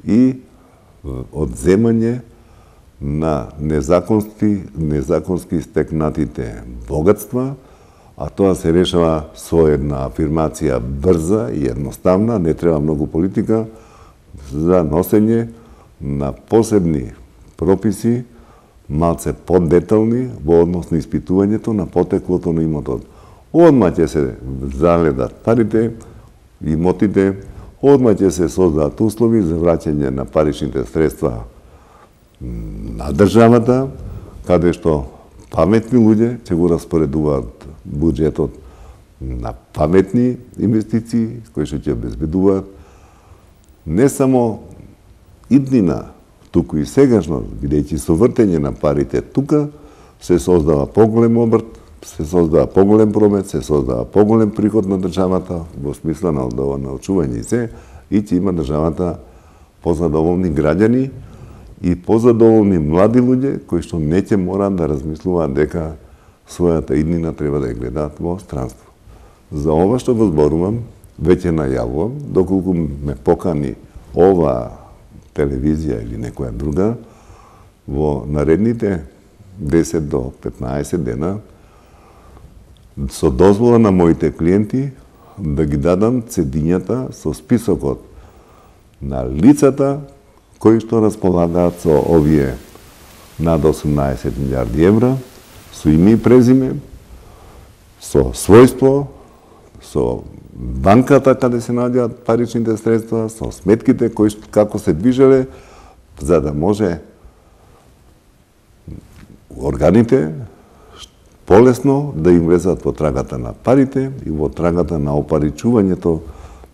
и одземање на незаконски, незаконски стекнатите богатства, а тоа се решава со една афирмација брза и едноставна, не треба многу политика, за носење на посебни прописи, малце поддетални во однос на испитувањето на потеклото на имотот. Одма ќе се заледат парите, имотите, одма ќе се создадат услови за враќање на паричните средства на државата, каде што паметни луѓе ќе го распоредуваат буџетот на паметни инвестиции, кои што ќе обезбедуваат не само иднина, туку и сегашност, бидејќи со вртење на парите тука се создава поголем обрт, се создава поголем промет, се создава поголем приход на државата во смисла на научување и се, и ќе има државата позадоволни граѓани и позадоволни млади луѓе кои што не ќе мораат да размислуваат дека својата иднина треба да ја гледаат во странство. За ова што го зборувам, веќе најавувам, доколку ме покани ова телевизија или некоја друга, во наредните десет до петнаесет дена, со дозвола на моите клиенти, да ги дадам цедињата со списокот на лицата кои што располагаат со овие над осумнаесет милиарди евра, со име и презиме, со својство, со банката каде се наоѓаат паричните средства, со сметките кои како се движеле, за да може органите полесно да им влезат во трагата на парите и во трагата на опаричувањето,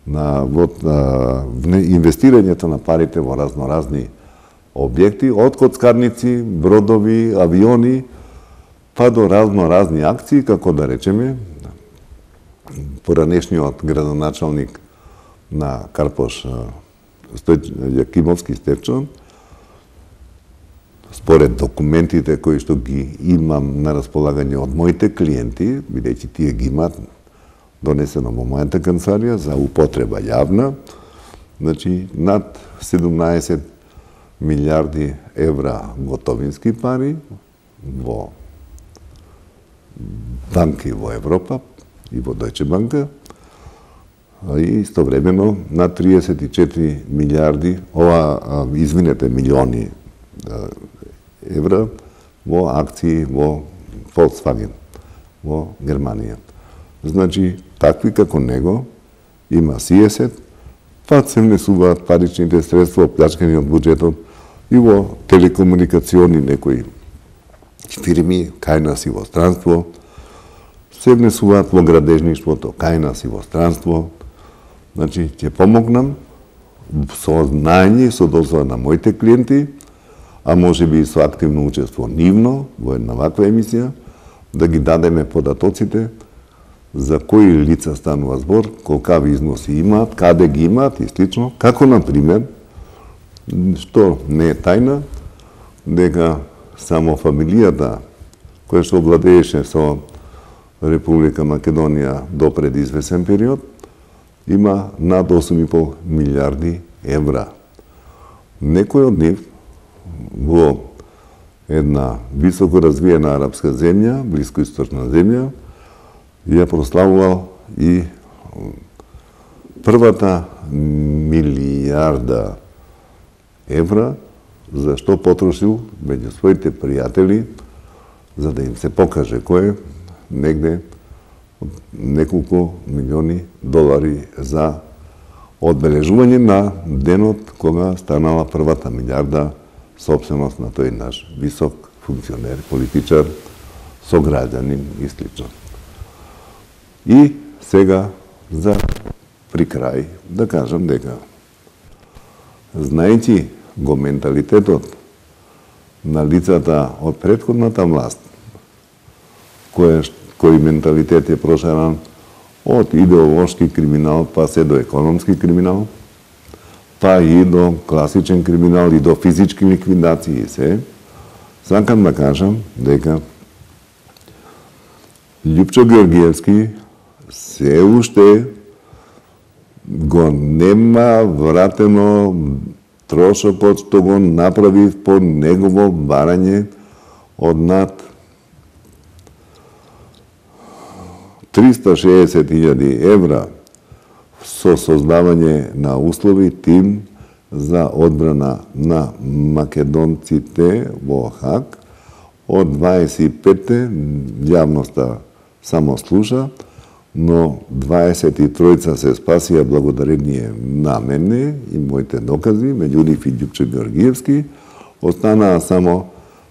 на, во, на инвестирањето на парите во разноразни објекти, од коцкарници, бродови, авиони, па до разноразни акции, како да речеме, поранешниот градоначалник на Карпош Јакимовски Стефчо, според документите кои што ги имам на располагање од моите клиенти, бидејќи тие ги имаат донесено во мојата канцеларија за употреба јавна, значи над седумнаесет милиарди евра готовински пари во банки во Европа и во Дојче банка, и истовремено над триесет и четири милиарди, ова, извинете, милиони евра во акции во Volkswagen во Германија. Значи, такви како него има сиесет, па се внесуваат паричните средства оплячкани од буџетот и во телекомуникациони некои фирми, кај нас и во странство, се внесуваат во градежништвото, кај нас и во странство. Значи, ќе помогнам со знаење и со дозвола на моите клиенти, а може би и со активно учество нивно во една ваква емисија, да ги дадеме податоците за кои лица станува збор, колкави износи имаат, каде ги имаат и слично, како на пример, што не е тајна, дека само фамилијата која што владееше со Република Македонија до пред извесен период, има над осум и пол милиарди евра. Некој од нив во една високо развиена арапска земја, блискоисточна земја, ја прославувал и првата милијарда евра, за што потрошил меѓу своите пријатели, за да им се покаже кој, негде неколку милиони долари за одбележување на денот кога станала првата милијарда собственост на тој наш висок функционер, политичар, сограѓанин и слично. И сега, за при крај, да кажам дека, знаејќи го менталитетот на лицата од претходната власт, кој, кој менталитет е прошаран од идеолошки криминал, па се до економски криминал, па и до класичен криминал и до физички ликвидации и се, сакам да кажам дека Љупчо Георгиевски се уште го нема вратено трошокот што го направи по негово барање од над триста и шеесет илјади евра со создавање на услови тим за одбрана на македонците во Хаг. Од дваесет и петте јавноста само слуша, но дваесет и тројца се спасија благодарение на мене и моите докази, меѓу нив и Љупчо Георгиевски, останаа само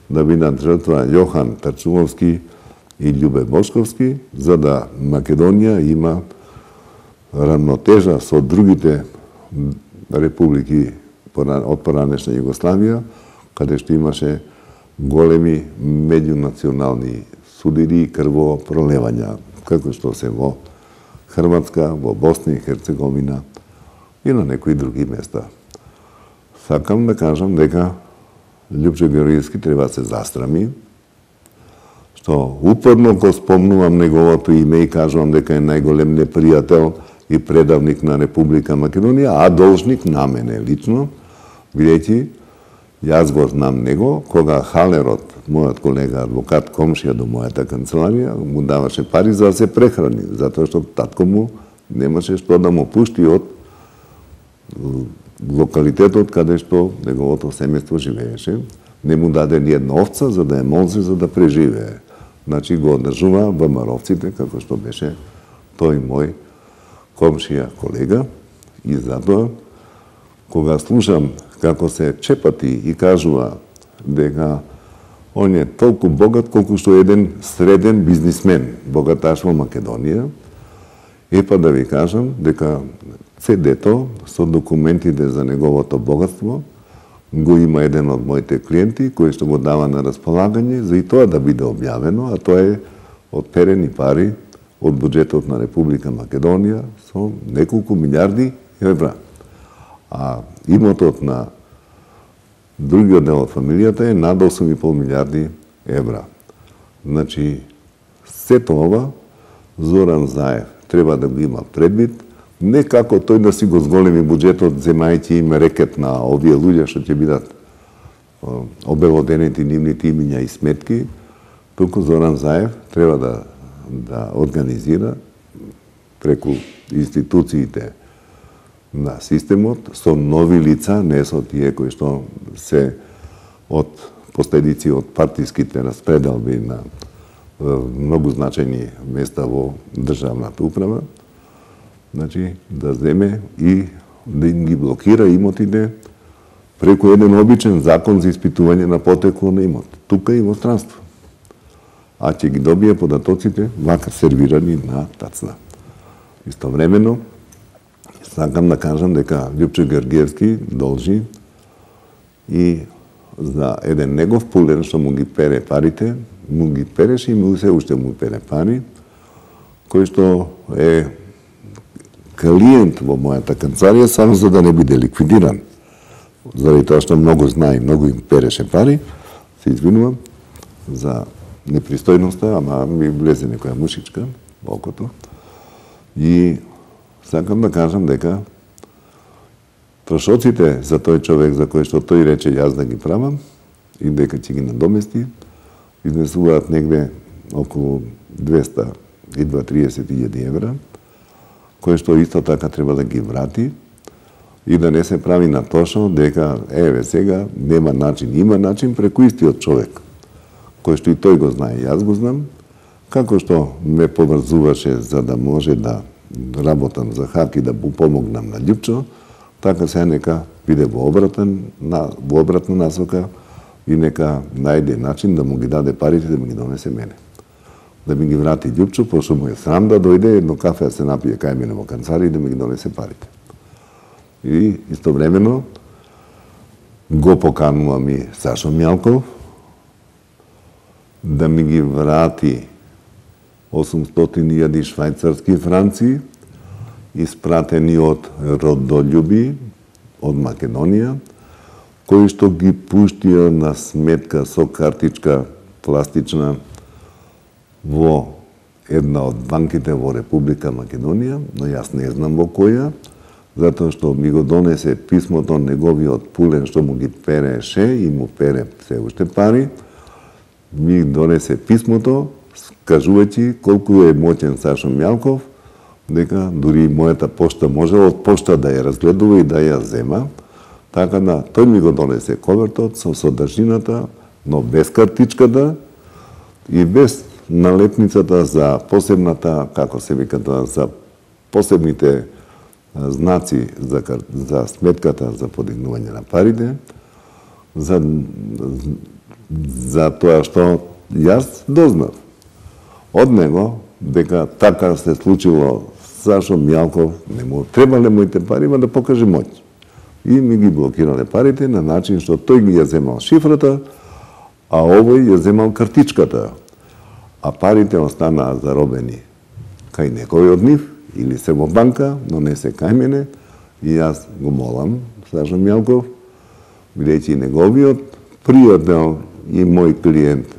да бидат жртва Јохан Тарчумовски и Љубе Бошковски, за да Македонија има рамнотежа со другите републики од поранешна Југославија, каде што имаше големи меѓунационални судири и крвопролевања, како што се во Хрватска, во Босна и Херцеговина и на некои други места. Сакам да кажам дека Љупчо Георгиевски треба да се застрами што упорно го спомнувам неговото име и кажувам дека е најголем непријател и предавник на Република Македонија, а должник на мене лично, бидејќи јас го знам него, кога Халерот, мојот колега адвокат, комшија до мојата канцеларија, му даваше пари за да се прехрани, затоа што татко му немаше што да му пушти од локалитетот каде што неговото семејство живееше. Не му даде ни една овца за да ја молзи за да преживее. Значи го одржува ВМРО-вците, како што беше тој мој комшија колега, и затоа кога слушам како се чепати и кажува дека он е толку богат колку што еден среден бизнисмен, богаташ во Македонија, е па да ви кажам дека цедето со документите за неговото богатство го има еден од моите клиенти кој што го дава на располагање за и тоа да биде објавено, а тоа е одперени пари од буџетот на Република Македонија со неколку милиарди евра. А имотот на другиот дел од фамилијата е над осум и пол милиарди евра. Значи, сето ова Зоран Заев треба да го има предвид, не како тој да си го зголеми буџетот, земајќи им рекет на овие луѓе што ќе бидат обелоденети нивните имиња и сметки, туку Зоран Заев треба да, да организира преку институциите на системот со нови лица, не со тие кои што се од последици од партиските распределби на многу значајни места во државната управа, значи да земе и да им ги блокира имотите преку еден обичен закон за испитување на потекло на имот, тука и во странство. А ќе ги добие податоците вака сервирани на тацна. Истовремено, сакам да кажам дека Љупчо Георгиевски должи и за еден негов пулен што му ги пере парите, му ги переше и му се уште му пере пари, кој што е клиент во мојата канцеларија само за да не биде ликвидиран. Заради тоа што многу знае, многу им переше пари, се извинувам за непристојноста, ама ми влезе некоја мушичка во окото. И сакам да кажам дека трошоците за тој човек за кој што тој рече јас да ги правам и дека ќе ги надомести, изнесуваат негде околу двеста и триесет илјади евра, кој што исто така треба да ги врати и да не се прави на тошо дека еве сега нема начин, има начин преку истиот човек, кој што и тој го знае, јас го знам, како што ме поврзуваше за да може да работам за ХАК и да му помогнам на Љупчо, така се нека биде во обратен, на, во обратна насока и нека најде начин да му ги даде парите да ми ги донесе мене. Да ми ги врати Љупчо, пошто му е срам да дојде едно кафе да се напие кај мене во канцеларија и да ми ги донесе парите. И истовремено го поканувам и Сашо Мјалков да ми ги врати осумстотини илјади швајцарски франци испратени од родолюби од Македонија, кои што ги пуштија на сметка со картичка пластична во една од банките во Република Македонија, но јас не знам во која, затоа што ми го донесе писмото неговиот пулен што му ги переше и му пере се уште пари, ми донесе писмото, кажувајќи колку е моќен Сашо Мјалков, дека дури мојата пошта може од пошта да ја разгледува и да ја зема, така да тој ми го донесе ковертот со содржината, но без картичката и без налепницата за посебната, како се вика тоа, за посебните знаци за, за сметката за подигнување на парите, за, за тоа што јас дознав од него дека така се случило. Сашо Мјалков не му требале моите пари, ма да покаже моќ. И ми ги блокирале парите на начин што тој ги ја земал шифрата, а овој ја земал картичката. А парите останаа заробени кај некој од нив, или се во банка, но не се кај мене, и јас го молам Сашо Мјалков, бидејќи неговиот пријател и мој клиент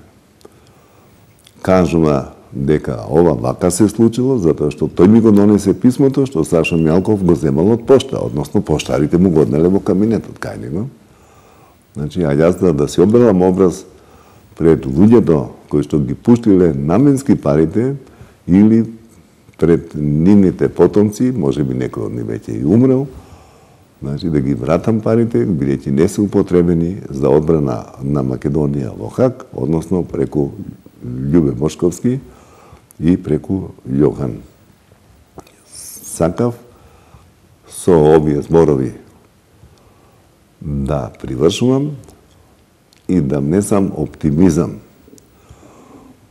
кажува дека ова вака се случило, затоа што тој ми го донесе писмото што Сашо Мјалков го земал од пошта, односно поштарите му го однеле во кабинетот кај него. Значи, а јас да, да се обелам образ пред луѓето кои што ги пуштиле наменски парите или пред нивните потомци, може би некој од нив веќе и умрел, значи да ги вратам парите, бидејќи не се употребени за одбрана на Македонија во Хаг, односно преку Љубе Бошковски и преку Јохан. Сакав со овие зборови да привршувам и да внесам оптимизам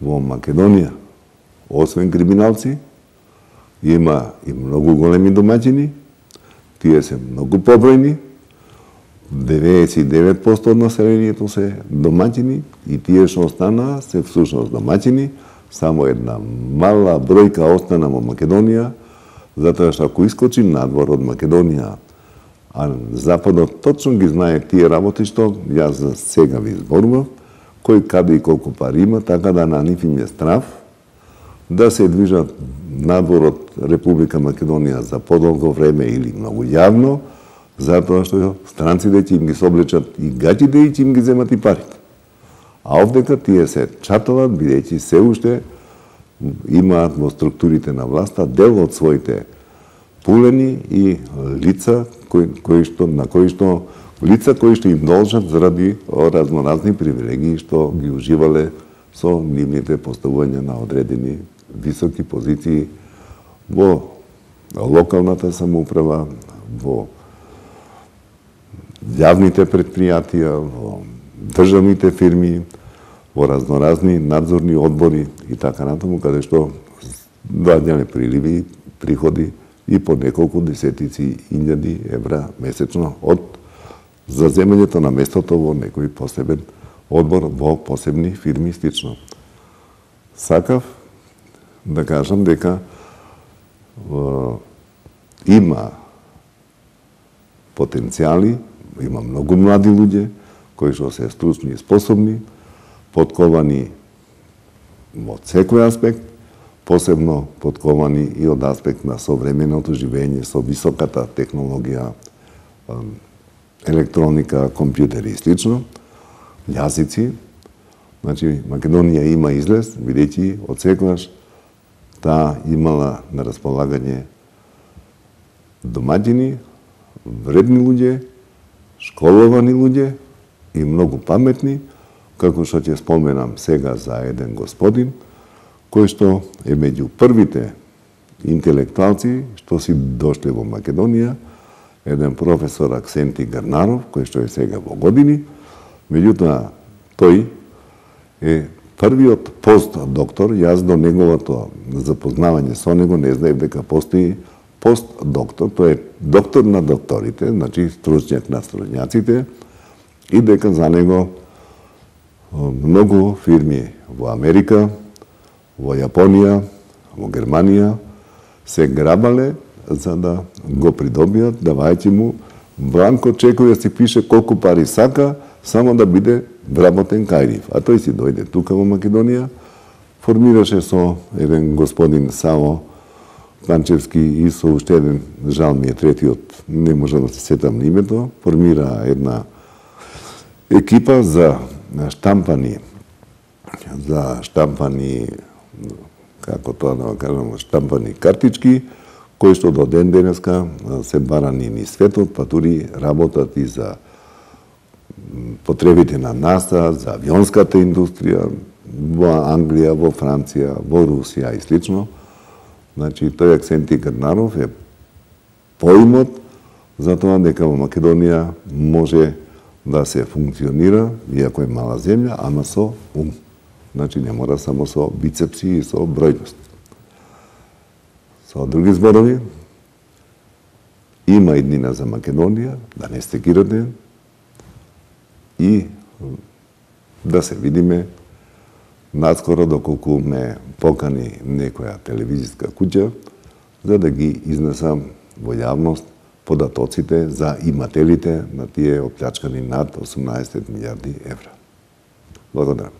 во Македонија. Освен криминалци, има и многу големи домаќини, тие се многу побројни, деветдесет и девет проценти од населението се домаќини и тие што останаа се всушност домаќини, само една мала бројка остана во Македонија, затоа што ако искочи надвор од Македонија, а Западот точно ги знае тие работи што јас за сега ви зборував, кој каде и колку пари има, така да на нив им е страв да се движат надвор од Република Македонија за подолго време или многу јавно, затоа што странците ќе им ги соблечат и гаќите и ќе им ги земат и парите. А овдека тие се чаталат, бидејќи се уште имаат во структурите на власта дел од своите пулени и лица кои, кои што, на кои што лица кои што им должат заради разноразни привилегии што ги уживале со нивните поставувања на одредени високи позиции во локалната самоуправа, во јавните предпријатија, во државните фирми, во разноразни надзорни одбори и така натаму, каде што доаѓале приливи, приходи и по неколку десетици илјади евра месечно од заземањето на местото во некој посебен одбор во посебни фирми стично. Сакав да кажам дека е, има потенцијали, има многу млади луѓе кои што се стручни и способни, подковани од секој аспект, посебно подковани и од аспект на современото живење со високата технологија, електроника, компјутери и слично, јазици. Значи, Македонија има излез, бидејќи од секогаш таа имала на располагање домаќини, вредни луѓе, школовани луѓе и многу паметни, како што ќе споменам сега за еден господин, кој што е меѓу првите интелектуалци што си дошле во Македонија, еден професор Аксенти Гарнаров, кој што е сега во години, меѓутоа тој е првиот постдоктор, јас до неговото запознавање со него не знаев дека постои постдоктор, тој е доктор на докторите, значи стручњак на стручњаците, и дека за него многу фирми во Америка, во Јапонија, во Германија се грабале за да го придобијат, давајќи му бланко чекови да си пише колку пари сака, само да биде вработен кај нив. А тој си дојде тука во Македонија, формираше со еден господин Саво Панчевски и со уште еден, жал ми е третиот, не можам да се сетам името, формира една екипа за штампани, за штампани, како тоа да кажам, штампани картички, кои што до ден денеска се барани ни светот, па тури работат и за потребите на НАСА, за авионската индустрија, во Англија, во Франција, во Русија и слично. Значи, тој Аксенти Гарнаров е поимот за тоа дека во Македонија може да се функционира, иако е мала земја, ама со ум. Значи, не мора само со бицепси и со бројност. Со други зборови, има иднина за Македонија, да не стекирате и да се видиме наскоро доколку ме покани некоја телевизиска куќа, за да ги изнесам во јавност податоците за имателите на тие оплячкани над осумнаесет милијарди евра. Благодарам.